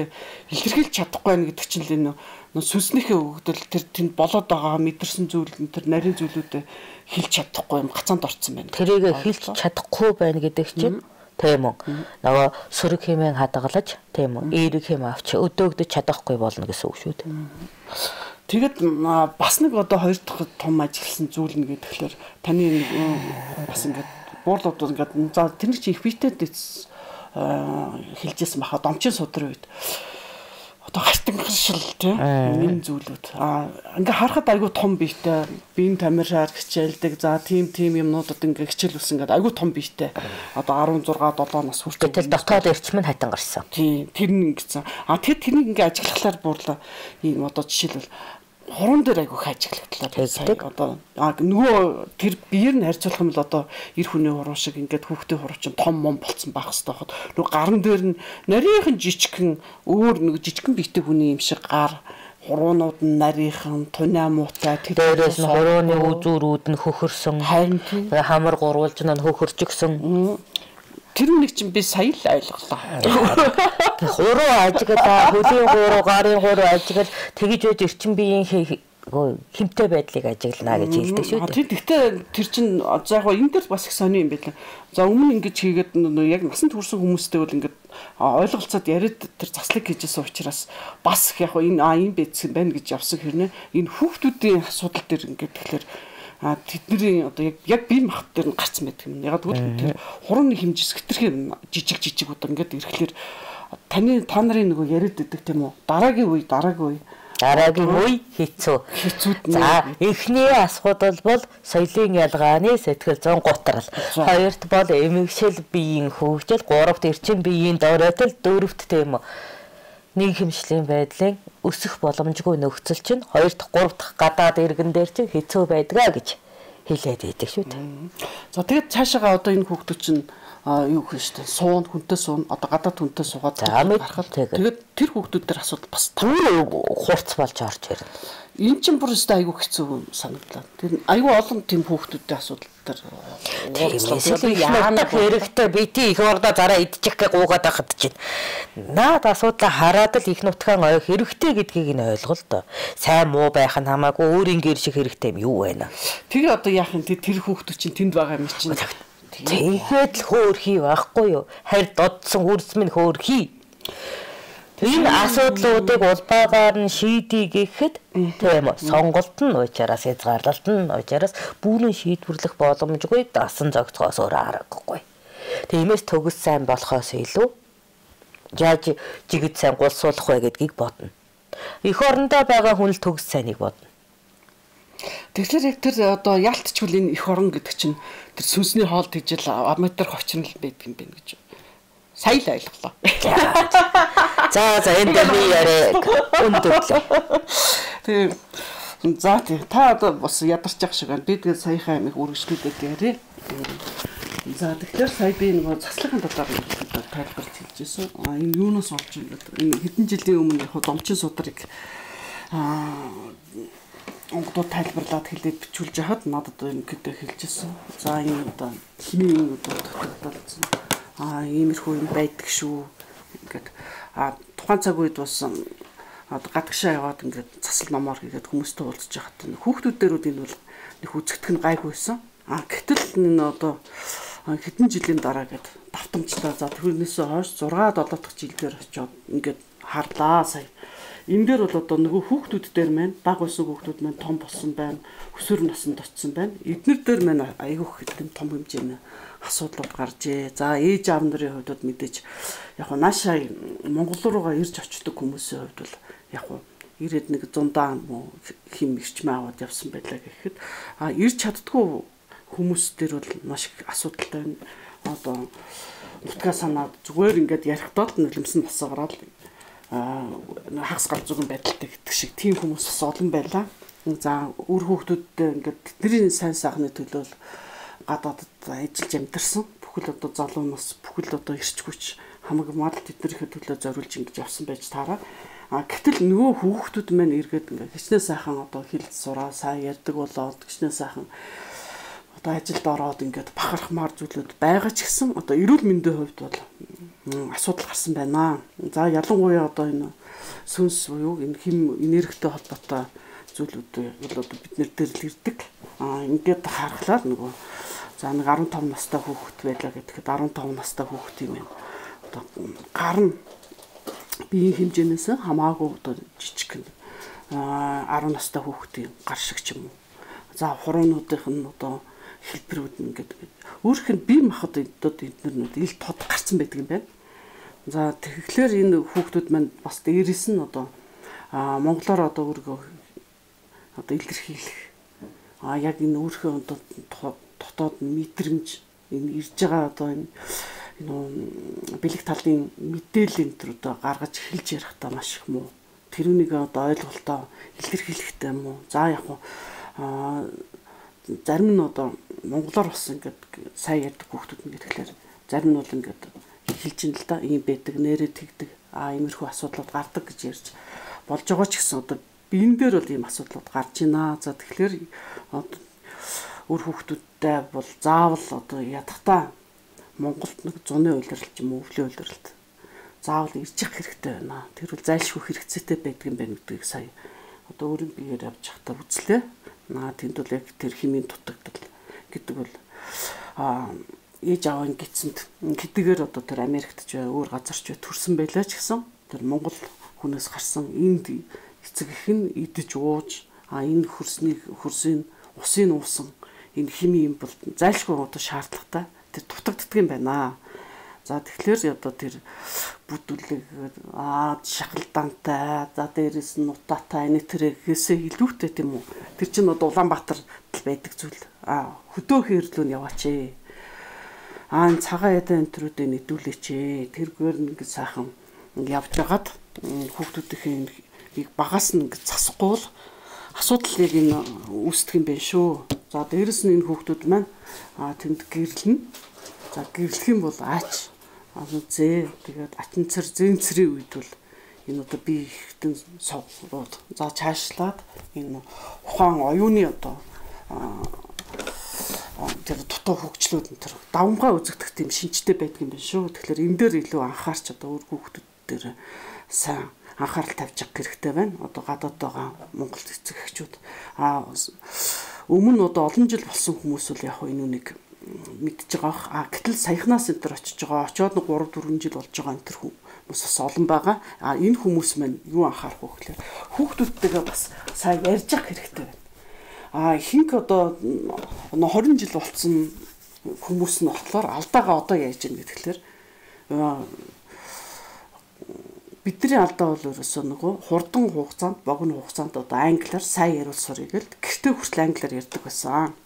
S1: илэрхийлж чадахгүй байна гэдэг чинь л энэ сүнснийхээ өгдөл тэр тэнд болоод байгаа мэдэрсэн зүйл энэ тэр нарийн зүйлүүдэд хэлж чадахгүй юм гацаанд орцсон байна.
S2: Тэрийг хэлж чадахгүй байна гэдэг чинь тийм үү. Нөгөө сүрэг хэмээн хадгалж тийм үү. Эерэг хэм авч өдөөгдөж чадахгүй болно гэсэн үг шүү дээ.
S1: Тэгэд бас нэг одоо хоёр дахь том ажилласан зүйл нь гэхээр таны бас ингээд буурлууд ингээд за тэр чинь их битэд хэлжсэн баха домчин судрын үед одоо хартангшил тийм энэ зүйлүүд а ингээ харахад айгүй том биетэй биеийн тамираар хичээлдэг за тийм тийм юмнуудад ингээ хичээлүүлсэн гэдэг айгүй том биетэй одоо16 7 нас хүртэл
S2: тэгэл дотоод эрчим нь хатан гарсан
S1: тийм тэр нь ингэсэн а тэр тэрнийг ингээ ажиллахлаар буурлаа ийм одоо жишээлбэл хорон дээр айгүй хажиглагдлаа сая одоо нөгөө тэр биеэр нь харьцуулах юм бол одоо эр хүний хуруу шиг ингээд хүүхдийн хуруу чинь том мом болцсон байх хэрэгтэй хот нөгөө гарын дээр нь нарийнхан жижигхэн өөр нэг жижигхэн биетэй хүний юм шиг гар хуруунууд нь нарийнхан туниа муутай
S2: тэр дээрээс нь хурууны үзүүрүүд нь хөхөрсөн
S1: харин
S2: хамар гурвуулж нь хөхөрчихсөн
S1: тэр нэг чинь би сая л ойлголоо.
S2: Хуруу ажиглаа, хөлийн хуруу, гарын хуруу ажиглал тэгж байж эрчим биеийн хэмтэй байдлыг ажиглана гэж хэлдэг шүү дээ.
S1: Тэр гэхдээ тэр чинь за яг энэ дээр бас их сони юм байлаа. За өмнө ингэж хийгээд яг насанд хүрсэн хүмүүстэй бол ингэж ойлголцоод яриад тэр заслыг хийжсэн учраас бас яг энэ а юм бэцсэн байна гэж явсан хэрнээ энэ хүүхдүүдийн асуудал дээр ингэж тэгэхээр а тэдний одоо яг яг бие махбод дээр нь гарцсан байдаг юм. Яг тэгвэл тэр хурууны хэмжээс хэтэрхий жижиг жижиг удаа ингээд ирэхлээр таны та нарын нөгөө яриад идэг тийм үү? Дараагийн үе, дараагийн үе.
S2: Дараагийн үе хэцүү.
S1: Хэцүүд
S2: нь. За, эхний асуудал бол соёлын ялгааны сэтгэл зүйн гутрал. Хоёрт бол эмгэгшил биеийн хөгжил, гуравт эрчим биеийн доройтол, дөрөвт тийм үү? Нийгэмшлийн байдлын өсөх боломжгүй нөхцөл чинь хоёр дахь гурав дахь гадаад иргэн дээр чинь хэцүү байдгаа гэж хэлээд байдаг шүү дээ.
S1: За тэгээд цаашаага одоо энэ хүүхдүүд чинь юу гэх юм шүү дээ. Суун хүнтэй суун одоо гадаад хүнтэй суугаад
S2: гарахад
S1: тэгээд тэр хүүхдүүд дээр асуудал бас
S2: хурц болж орж ирнэ.
S1: Энэ чинь бүр өстой айгүй хэцүү санагдлаа. Тэр айгүй олон тийм хүүхдүүдтэй асуудал дээр
S2: яана хэрэгтэй бити их ордоо зараа идчих гэ гуугаад байхад чинь наад асуудлаа хараад л их нутгаан ой хэрэгтэй гэдгийг нь ойлгол доо. Сайн муу байх нь хамаагүй өөрийн гэр шиг хэрэгтэй юм юу байна.
S1: Тэгээ одоо яах юм тэр хүүхдүүд чинь тэнд байгаа юм чинь.
S2: Тэгээд л хөөрхий байхгүй юу? Харь додсон үрс минь хөөрхий. Энэ асуудлуудыг улбаагаар нь шийдий гэхэд тийм үү сонголт нь уучраас хязгаарлалт нь уучраас бүрэн шийдвэрлэх боломжгүй дасан зогцохоос өөр аргагүй. Тиймээс төгс сайн болохоос илүү яаж жигд сайн гулсуулах вэ гэдгийг бодно. Эх орондоо байгаа хүн л төгс сайныг бодно.
S1: Тэгэхээр яг тэр одоо яалтчгүй энэ эх орон гэдэг чинь тэр сүнсний хоол тэгжэл амтар ховчрол байдаг юм байна гэж. Сая л ойлголоо.
S2: За за энэ дээр би яриа өндөрлөө.
S1: Тэгээ за тий та одоо бас ядарч явах шиг байна. Би тэгээд саяхан амиг үргэлжлүүлээд яриа. За тэгэхээр сая би нөгөө заслахын дотор тайлбарч хэлжсэн. А энэ юунаас олж энэ хэдэн жилийн өмнө яг домчин судрыг аа онгодоо тайлбарлаад хэлээд бичүүлж хахад надад ингэдэ хэлжсэн. За энэ одоо химийн одоо тогтолцсон. А иймэрхүү юм байдаг шүү. Ингээд А тухайн цаг үед бас одоо гадагшаа яваад ингээд цасал номоор хийгээд хүмүүстэй уулзж байхад хүүхдүүдээрүүд энэ бол нэг үзэгдэх нь гайгүйсэн. А гэтэл энэ одоо хэдэн жилийн дараа гээд давтамжтай за тэрнээсээ хойш зургаа долоо дахь жилдээр очиод ингээд харлаа сая. Энэ дээр бол одоо нөгөө хүүхдүүд дээр маань баг байсан хүүхдүүд маань том болсон байна. Өсвөр наснд очсон байна. Эднэр дээр маань айгүйх хэдэн том хэмжээний асуудлууд гарчээ. За ээж аав нарын хувьд мэдээж яг нь наашаа Монгол руугаа ирж очдог хүмүүсийн хувьд бол яг нь ирээд нэг зундаа хим ирчмээ аваад явсан байлаа гэхэд а ирж чаддгүй хүмүүс дээр бол маш их асуудалтай байна. Одоо нутгаа санаад зүгээр ингээд ярихдаа л нулимсэн насаа гараад а хагас галзуугийн байдалтай гэдэг шиг тийм хүмүүс бас олон байлаа. За үр хүүхдүүдтэй ингээд тэдний сайн сайхны төлөө гадаадд ажиллаж амьдэрсэн. Бүхэл одоо залуу нас бүхэл одоо ирчгүйч хамаг мал тэднийхээ төлөө зориулж ингэж явсан байж таараа. А гэтэл нөгөө хүүхдүүд маань эргээд ингээ хичнээн сайхан одоо хэлж сураа сайн ярьдаг болоод хичнээн сайхан одоо ажилд ороод ингээд бахархмаар зүйлүүд байгаа ч гэсэн одоо эрүүл мэндийн хувьд бол асуудал гарсан байна. За ялангуяа одоо энэ сүнс буюу энэ хэм энергитэй холбоотой зүйлүүд бол одоо бид нэр дээр л ирдэг. А ингээд харахлаа нөгөө за нэг арван таван настай хүүхэд байлаа гэхэд арван таван настай хүүхэд юм байна. Одоо гар нь биеийн хэмжээнээс хамаагүй одоо жижиг а арван настай хүүхдийн гар шиг ч юм уу. За хуруунуудынх нь одоо хэлбэрүүд ингээд өөрөх нь бие махбод эднэрнүүд ил тод гарсан байдаг юм байна. За тэгэхээр энэ хүүхдүүд маань бас дээрээс нь одоо а монголоор одоо өөргөө одоо илэрхийлэх а яг энэ өөрхөн одоо дотоод мэдрэмж энэ ирж байгаа одоо энэ бэлэг талын мэдээлэл энэ төр одоо гаргаж хэлж ярихтаа маш их муу. Тэрүүнийг одоо ойлголтоо илэрхийлэхтэй муу. За яг хуу а зарим нь одоо монголоор бас ингээд сайн ярьдаг хүүхдүүд нь гэхээр зарим нь бол ингээд хэлж ин л да ийм байдаг нэрээ тэгдэг а иймэрхүү асуудлууд гардаг гэж ярьж болж байгаа ч гэсэн одоо биен дээр бол ийм асуудлууд гарч байна. За тэгэхээр одоо өөр хүүхдүүдтэй бол заавал одоо ядахтаа Монголд нэг зуны улирал ч юм уу өвлийн улиралд заавал ирж явах хэрэгтэй байна. Тэр бол зайлшгүй хэрэгцээтэй байдаг юм байна гэдгийг сая одоо өөрийн биеэр авч явахдаа үзлээ. Наа тэнд бол яг тэр химийн дутагдал гэдэг бол а ээж аавын гисэнд хэдийгээр одоо тэр Америкт ч өөр газар ч төрсэн байлаа ч гэсэн тэр Монгол хүнээс гарсан энд эцэг их нь идэж ууж а энэ хөрсний хөрсийн усын уусан энэ химийн юм бол зайлшгүй одоо шаардлагатай тэр дутагддаг юм байна. За тэгэхээр одоо тэр бүдүүлэг аа шахалдаантай за дээрээс нь нутаатай энэ тэрээсээ илүүтэй тийм үү. Тэр чинь одоо Улаанбаатар байдаг зүйл. Аа хөдөө хэрлүү нь яваач ээ. Аа цагаан ядаа энтрүүдээ нэдүүлээч ээ. Тэргээр нэг сайхан явж байгаад хүүхдүүдийн багаас нь засахгүй бол асуудал яг энэ үүсдэг юм байна шүү. За дээрээс нь энэ хүүхдүүд маань аа тэнд гэрлэн за гэрлэх юм бол аач аа зээ тэгээд атанцар зэнцрийн үед бол энэ одоо би ихтэн соврууд за цаашлаад энэ ухаан оюуны одоо тэр дутуу хөгжлүүд энэ тэр давмгай үзэгдэх тийм шинжтэй байдаг юм байна шүү. Тэгэхээр энэ дээр илүү анхаарч одоо өөр хүүхдүүд дээр сайн анхаарал тавьж авах хэрэгтэй байна. Одоо гадаад байгаа Монгол эцэг эхчүүд а өмнө нь одоо олон жил болсон хүмүүс бол яг энэ үнийг мэдж байгаа. А гэтэл саяхнаас энэ төр очиж байгаа. Очоод нэг гурав дөрвөн жил болж байгаа энэ төр хүмүүс бас олон байгаа. А энэ хүмүүс маань юу анхаарах вэ гэхээр хүүхдүүдтэйгээ бас сайн ярьж авах хэрэгтэй байна. А ихэнх одоо двадцать жил болсон хүмүүс нь болохоор алдаагаа одоо яаж яах гэхээр бидний алдаа бол ерөөсөө нөгөө хурдан хугацаанд богино хугацаанд одоо англиар сайн яриул сурыг л гэртээ хүртэл англиар ярьдаг байсан.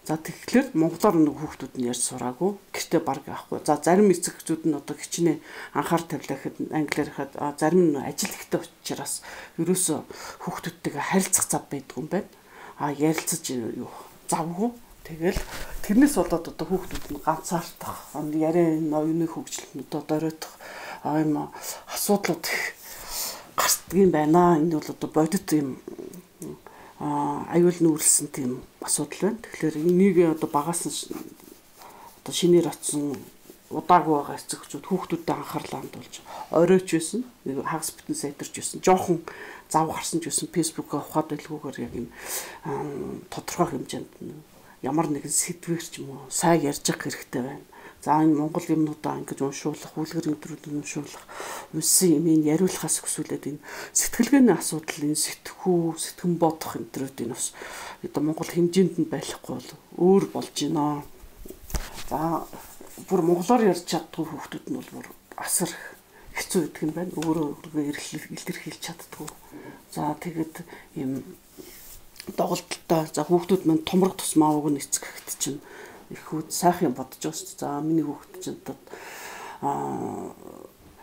S1: За тэгэхээр монголоор нэг хүүхдүүд нь ярьж сураагүй гэртээ баг авахгүй. За зарим эцэг эхчүүд нь одоо хичнээн анхаар тавилахад англиар хаад зарим нь ажил ихтэй учраас ерөөсөө хүүхдүүдтэйгээ харилцах зав байдаг юм байна. А ярилцаж юу завгүй. Тэгэл тэрнээс болоод одоо хүүхдүүд нь ганцаардах, яриа ноёны хөгжилтөнд одоо доройтох а юм асуудлууд гардаг юм байна. Энэ бол одоо бодит юм а аюул нүүрлсэн тийм асуудал байна. Тэгэхээр энийг одоо багаас нь одоо шинээр очсон удаагүй байгаа эцэг эхчүүд хүүхдүүдэд анхаарлаа хандуулж оройч байсан. Нэг хагас битэн сайтарч байсан. Жохон зав гарсан ч байсан фэйсбүүкээ ухаад байлгүйгээр яг юм тодорхой хэмжээнд ямар нэгэн сэдвэр ч юм уу сайн ярьж явах хэрэгтэй байна. За энэ Монгол юмнуудаа ингэж уншуулах, үлгэр өдрүүд уншуулах, үсэн юм ин яриулахаас өсвөлээд энэ сэтгэлгээний асуудал, энэ сэтгхүү, сэтгэн бодох өдрүүд энэ бас одоо Монгол хэмжээнд нь байхгүй бол өөр болж байна. За бүр монголоор ярьж чаддгүй хүүхдүүд нь бол бүр асар хэцүү гэдэг юм байна. Өөрөө өөргөө илэрхийлж чаддгүй. За тэгээд ийм доголдолтой за хүүхдүүд мань томрог тусмаа уг нь эцэгт чинь их хүүд сайхан бодож байгаа шүү дээ. За миний хүүхд чинь аа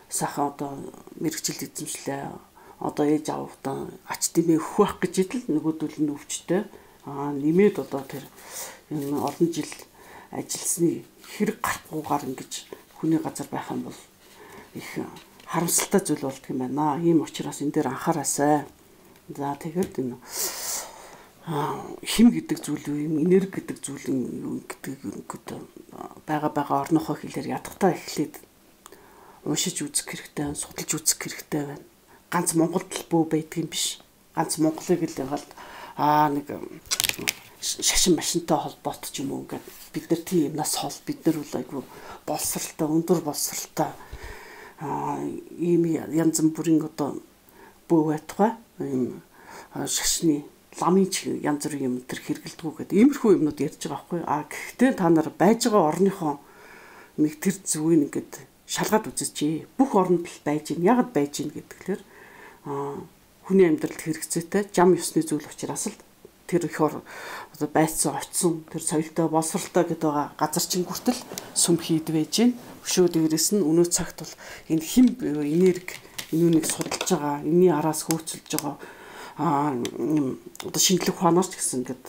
S1: сайхан одоо мэрэгчл эзэмшлээ. Одоо ээж аавдаа ач дэмээ өгөх гэж идэл нөгөөдөл нь өвчтэй. Аа нэмээд одоо тэр энэ олон жил ажилласны хэрэг гарахгүйгээр ингэж хүний газар байх юм бол их харамсалтай зүйл болдго юм байна. Ийм учраас энэ дээр анхаараасай. За тэгээд энэ хим гэдэг зүйл юм, энерги гэдэг зүйл юм гэдэг ингээд байгаа байгаа орнохоо хэлээр ядахтаа эхлээд уншиж үзэх хэрэгтэй, судалж үзэх хэрэгтэй байна. Ганц Монголд л бөө байдаг юм биш. Ганц Монголыг л ягаад аа нэг шашин машинтай холбоотой ч юм уу ингээд бид нар тийм юмнаас хол бид нар бол айгүй боловсралтай, өндөр боловсралтай аа ийм янз бүрийн одоо бөө байтугай ийм шашны ламын янз бүрийн юм төр хэрэгэлдэггүй гэдэг иймэрхүү юмнууд ярьж байгаа байхгүй. А гэхдээ та нар байж байгаа орныхоо нэг тэр зүгийг ингээд шалгаад үзээч. Бүх оронд л байж гин. Ягд байж гин гэдгээр а хүний амьдралд хэрэгцээтэй жам ёсны зүйл учраас л тэр их одоо байцсан очсон тэр соёлтой боловсралтай гэдэг байгаа газар чинь хүртэл сүм хийд байж гин. Өшөө дээрээс нь өнөө цагт бол энэ хим энерги энүүнийг судалж байгаа, энэний араас хөөцөлж байгаа а одоо шинжлэх ухаанаас ч гэсэн ингээд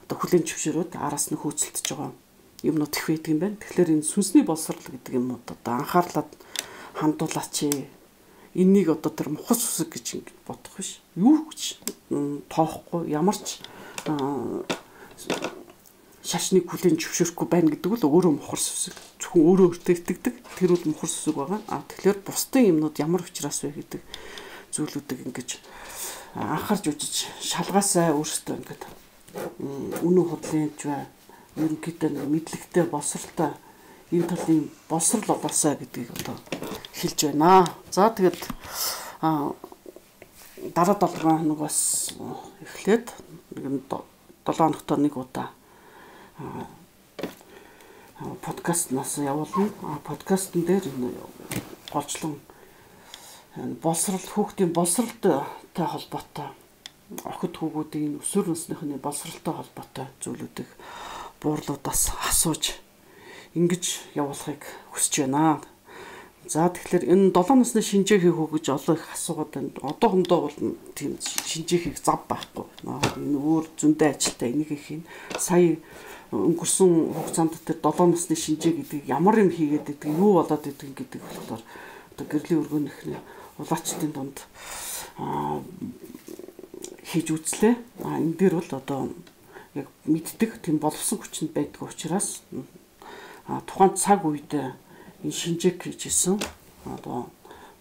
S1: одоо хүлэн зөвшөөрөөд араас нь хөөцөлдөж байгаа юмнууд их байдаг юм байна. Тэгэхээр энэ сүнсний боловсрал гэдэг юм одоо анхаарлаад хандуулаач. Энийг одоо тэр мухас үсэг гэж ингээд бодох биш. Юу гэж тоохгүй ямар ч шашныг хүлэн зөвшөөрөхгүй байна гэдэг бол өөрөө мухас үсэг. Зөвхөн өөрөө өөртөө итгэдэг. Тэр бол мухас үсэг байгаа. А тэгэхээр бусдын юмнууд ямар учраас вэ гэдэг зүйлүүдийг ингэж анхаарч үзэж шалгаасаа өөрсдөө ингээд үнэн худлынч бай ерөнхийдөө мэдлэгтэй боловсралтай энэ талын боловсрал болоосаа гэдгийг одоо хэлж байна. За тэгээд дараа долоо хоногоос эхлээд долоо хоногт нэг удаа подкастнаас явуулна. Подкастн дээр голчлон боловсрал хүүхдийн боловсралтай холбоотой охид хүүгүүдийн өсвөр насныхны боловсралтай холбоотой зүйлүүдийг буурлуудаас асууж ингэж явуулахыг хүсэж байна. За тэгэхээр энэ долоо насны шинжээхийг хөө гэж олон их асуугаад байна. Одоохондоо бол тийм шинжээхийг зав байхгүй. Энэ өөр зөндөө ажилтай энийг их сая өнгөрсөн хугацаанд тэр долоо насны шинжээ гэдэг ямар юм хийгээд байдаг, юу болоод байдаг гэдэг болохоор одоо гэрлийн өргөнийхний улаачдын дунд хийж үзлээ. А энэ дээр бол одоо яг мэддэг тийм боловсон хүчинд байдаг учраас тухайн цаг үед энэ шинжээг хийжсэн одоо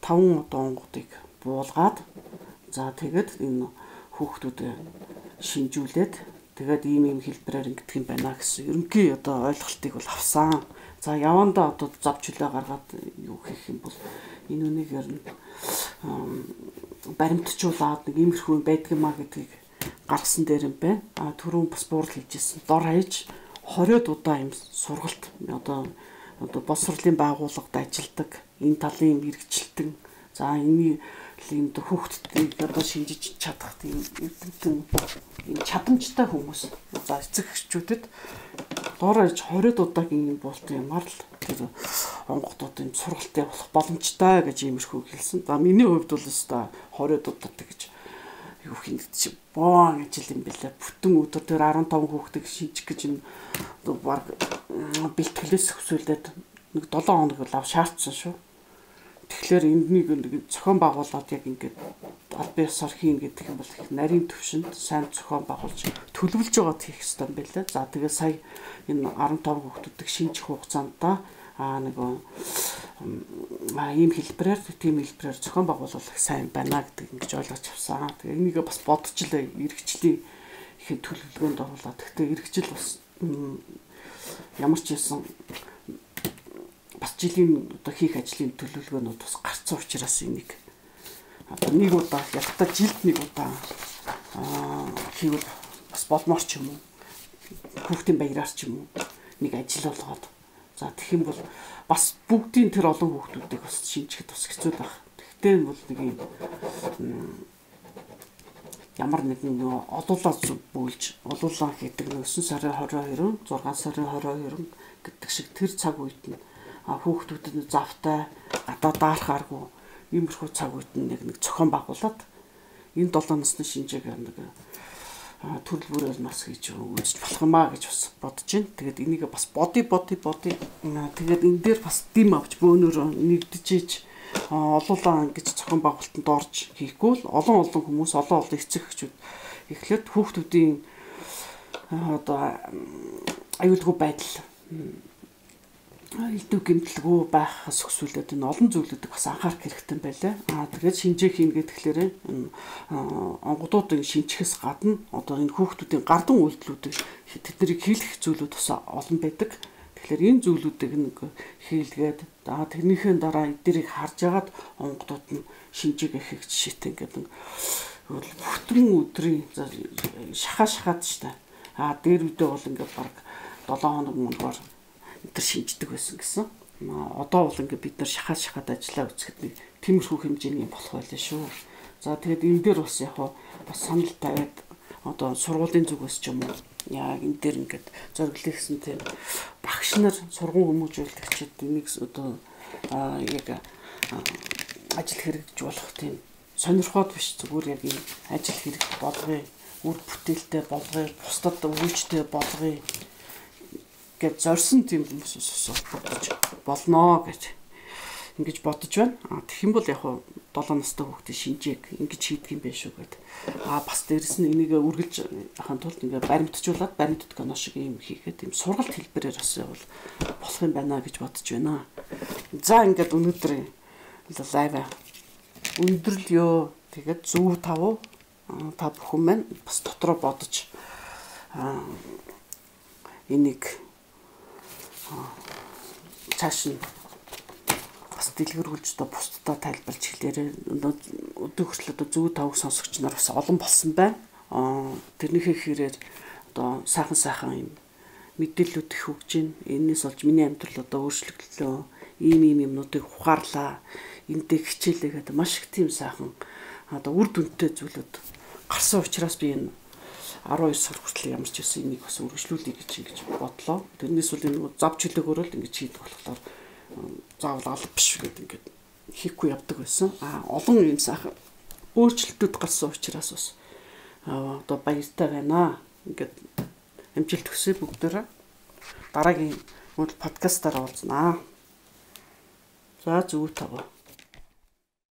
S1: таван одоо онгодыг буулгаад за тэгээд энэ хүүхдүүдэд шинжүүлээд тэгээд ийм ийм хэлбэрээр ингэдэг юм байна гэсэн ерөнхий одоо ойлголтыг бол авсан. За явандаа одоо завж хүлээ гаргаад юу хийх юм бол энэ үнийг ер нь баримтжуулаад нэг иймэрхүү байдаг юмаа гэдгийг гаргасан дээр юм байна. А түрүүн бас буурал хийжсэн. Дор хаяж хориод удаа юм сургалт одоо одоо боловсролын байгууллагад ажилладаг энэ талын мэрэгчлэлтэн за энэ энэ хүүхдүүдийг одоо шинжиж чадах тийм эрдэмтэн энэ чадамжтай хүмүүс за эцэг эхчүүдэд дор хаяж хориод удаагийн буулт юмар л тэр онгодуудын сургалт явуулах боломжтой гэж иймэрхүү хэлсэн. За миний хувьд бол өстой хориод удаатай гэж юу хийх гэж боон ажил юм бэлээ. Бүтэн өдөр тэр арван таван хүүхдийг шинжих гэж энэ баг бэлтгэлээс өсвөлээд нэг долоон хоног л ав шаардсан шүү. Тэгэхээр энднийг нэг зохион байгуулад яг ингээд аль биесаар хийн гэдэг юм бол их нарийн төвшөнд сайн зохион байгуулж төлөвлөж байгаад хийх хэрэгтэй юм байна лээ. За тэгээ сая энэ арван таван хүүхдүүдийг шинжих хугацаанд аа нөгөө аа ийм хэлбэрээр тийм хэлбэрээр зохион байгуулах сайн байна гэдэг ингэж ойлгож авсан. Тэгээ энийг бас бодож л эргэжлийн ихэд төлөвлөгөөнд оруулаад. Гэхдээ эргэжил бас ямар ч юм бас жилийн одоо хийх ажлын төлөвлөгөөнүүд бас гарцсан учраас энийг одоо нэг удаа ялтаа жилд нэг удаа аа хийвэл бас болмоор ч юм уу. Хүүхдийн баяраар ч юм уу нэг ажил болгоод за тэгэх юм бол бас бүгдийн тэр олон хүүхдүүдийг бас шинжихэд бас хэцүү байх. Тэгтээ бол нэг юм ямар нэгэн олуулаад бүүлж олуулаа гэдэг нь өсөн сарын хорин хоёр, зургаан сарын хорин хоёр гэдэг шиг тэр цаг үед нь хүүхдүүдэд завтай гадаа даарахааргүй иймэрхүү цаг үед нь нэг нэг зохион байгуулад энэ долоо насны шинжээг нэг төрөл бүрээр нас хийж үзэж болох юм аа гэж бас бодож байна. Тэгээд энийг бас боди боди боди тэгээд энэ дээр бас дэм авч бөөнөр нэгдэж иж олуулаа ингэж зохион байгуулалтанд орж хийхгүй л олон олон хүмүүс олон олон эцэг эхчүүд эхлээд хүүхдүүдийн одоо аюулгүй байдал элдв гэмтэлгүй байх өсвөлдөд энэ олон зүйлүүдийг бас анхаарах хэрэгтэй байлаа. Аа тэгээд шинжээ хийн гэхлээр онгодуудын шинжихээс гадна одоо энэ хүүхдүүдийн гардан үйлдэлүүдийг тэднийг хийлгэх зүйлүүд бас олон байдаг. Тэгэхээр энэ зүйлүүдийг нэг хийлгээд аа тэрнийхээ дараа эдгэрийг харж агаад онгодууд нь шинжээг хийх жишээтэй ингээд бүтэн өдрийн шахаа шахаад штэ. Аа дээр үдээ бол ингээд баг долоон хоног мөнгөөр тэр шинждэг байсан гэсэн. Одоо бол ингээд бид нар шахаад шахаад ажиллаа үзэхэд нэг тиймэрхүү хэмжээний болох байлаа шүү. За тэгээд энэ дээр бас яг бас санал тавиад одоо сургуулийн зүгээс ч юм уу яг энэ дээр ингээд зориглох гэсэн тийм багш нар сургууль хүмүүжүүлэгчид энийг одоо яг ажил хэрэгжиж болох тийм сонирхоод биш зүгээр яг энэ ажил хэрэг болгоё, үр бүтээлтэй болгоё, бусдад өвөлжтэй болгоё гэж зорьсон тийм хүмүүсээс бодож болно гэж ингэж бодож байна. А тэгэх юм бол яг долоо настай хүүхдийн шинжээг ингэж хийдэг юм байх шүү гэд. А бас дээрэс нь энийг үргэлж ахын тулд ингээ баримтжуулаад баримтд кино шиг юм хийгээд юм сургалт хэлбэрээр бас явал болох юм байна гэж бодож байна. За ингээд өнөөдөр лайв өндөрлөө ёо тэгээд зөв тав та бүхэн маань бас дотроо бодож а энийг цааш нь бас дэлгэрүүлж одоо бусдад тайлбарлаж хэлээрээ өдөө хүртэл одоо зөв тавг сонсогч нар бас олон болсон байна. Аа тэрнийхээ хэрээр одоо сайхан сайхан юм мэдээлэлүүд их өгж байна. Энээс болж миний амьдрал одоо өөрчлөгдлөө. Ийм ийм юмнуудыг ухаарлаа. Эндээ хичээлээ гэдэг маш их тийм сайхан одоо үр дүнтэй зүйлүүд гарсан учраас би энэ арван хоёр сар хүртэл ямар ч байсан энийг бас үргэлжлүүлэе гэж ингэж бодлоо. Тэрнээс үл энэ зав чөлөөгөөр л ингэж хийдэг болохоор заавал алба биш гэдэг ингээд хийхгүй явдаг байсан. А олон юм сайхан өөрчлөлтүүд гарсан учраас бас одоо баяртай байна. Ингээд амжилт хүсье бүгдээрээ. Дараагийн подкастаар уулзнаа. За зүг тав.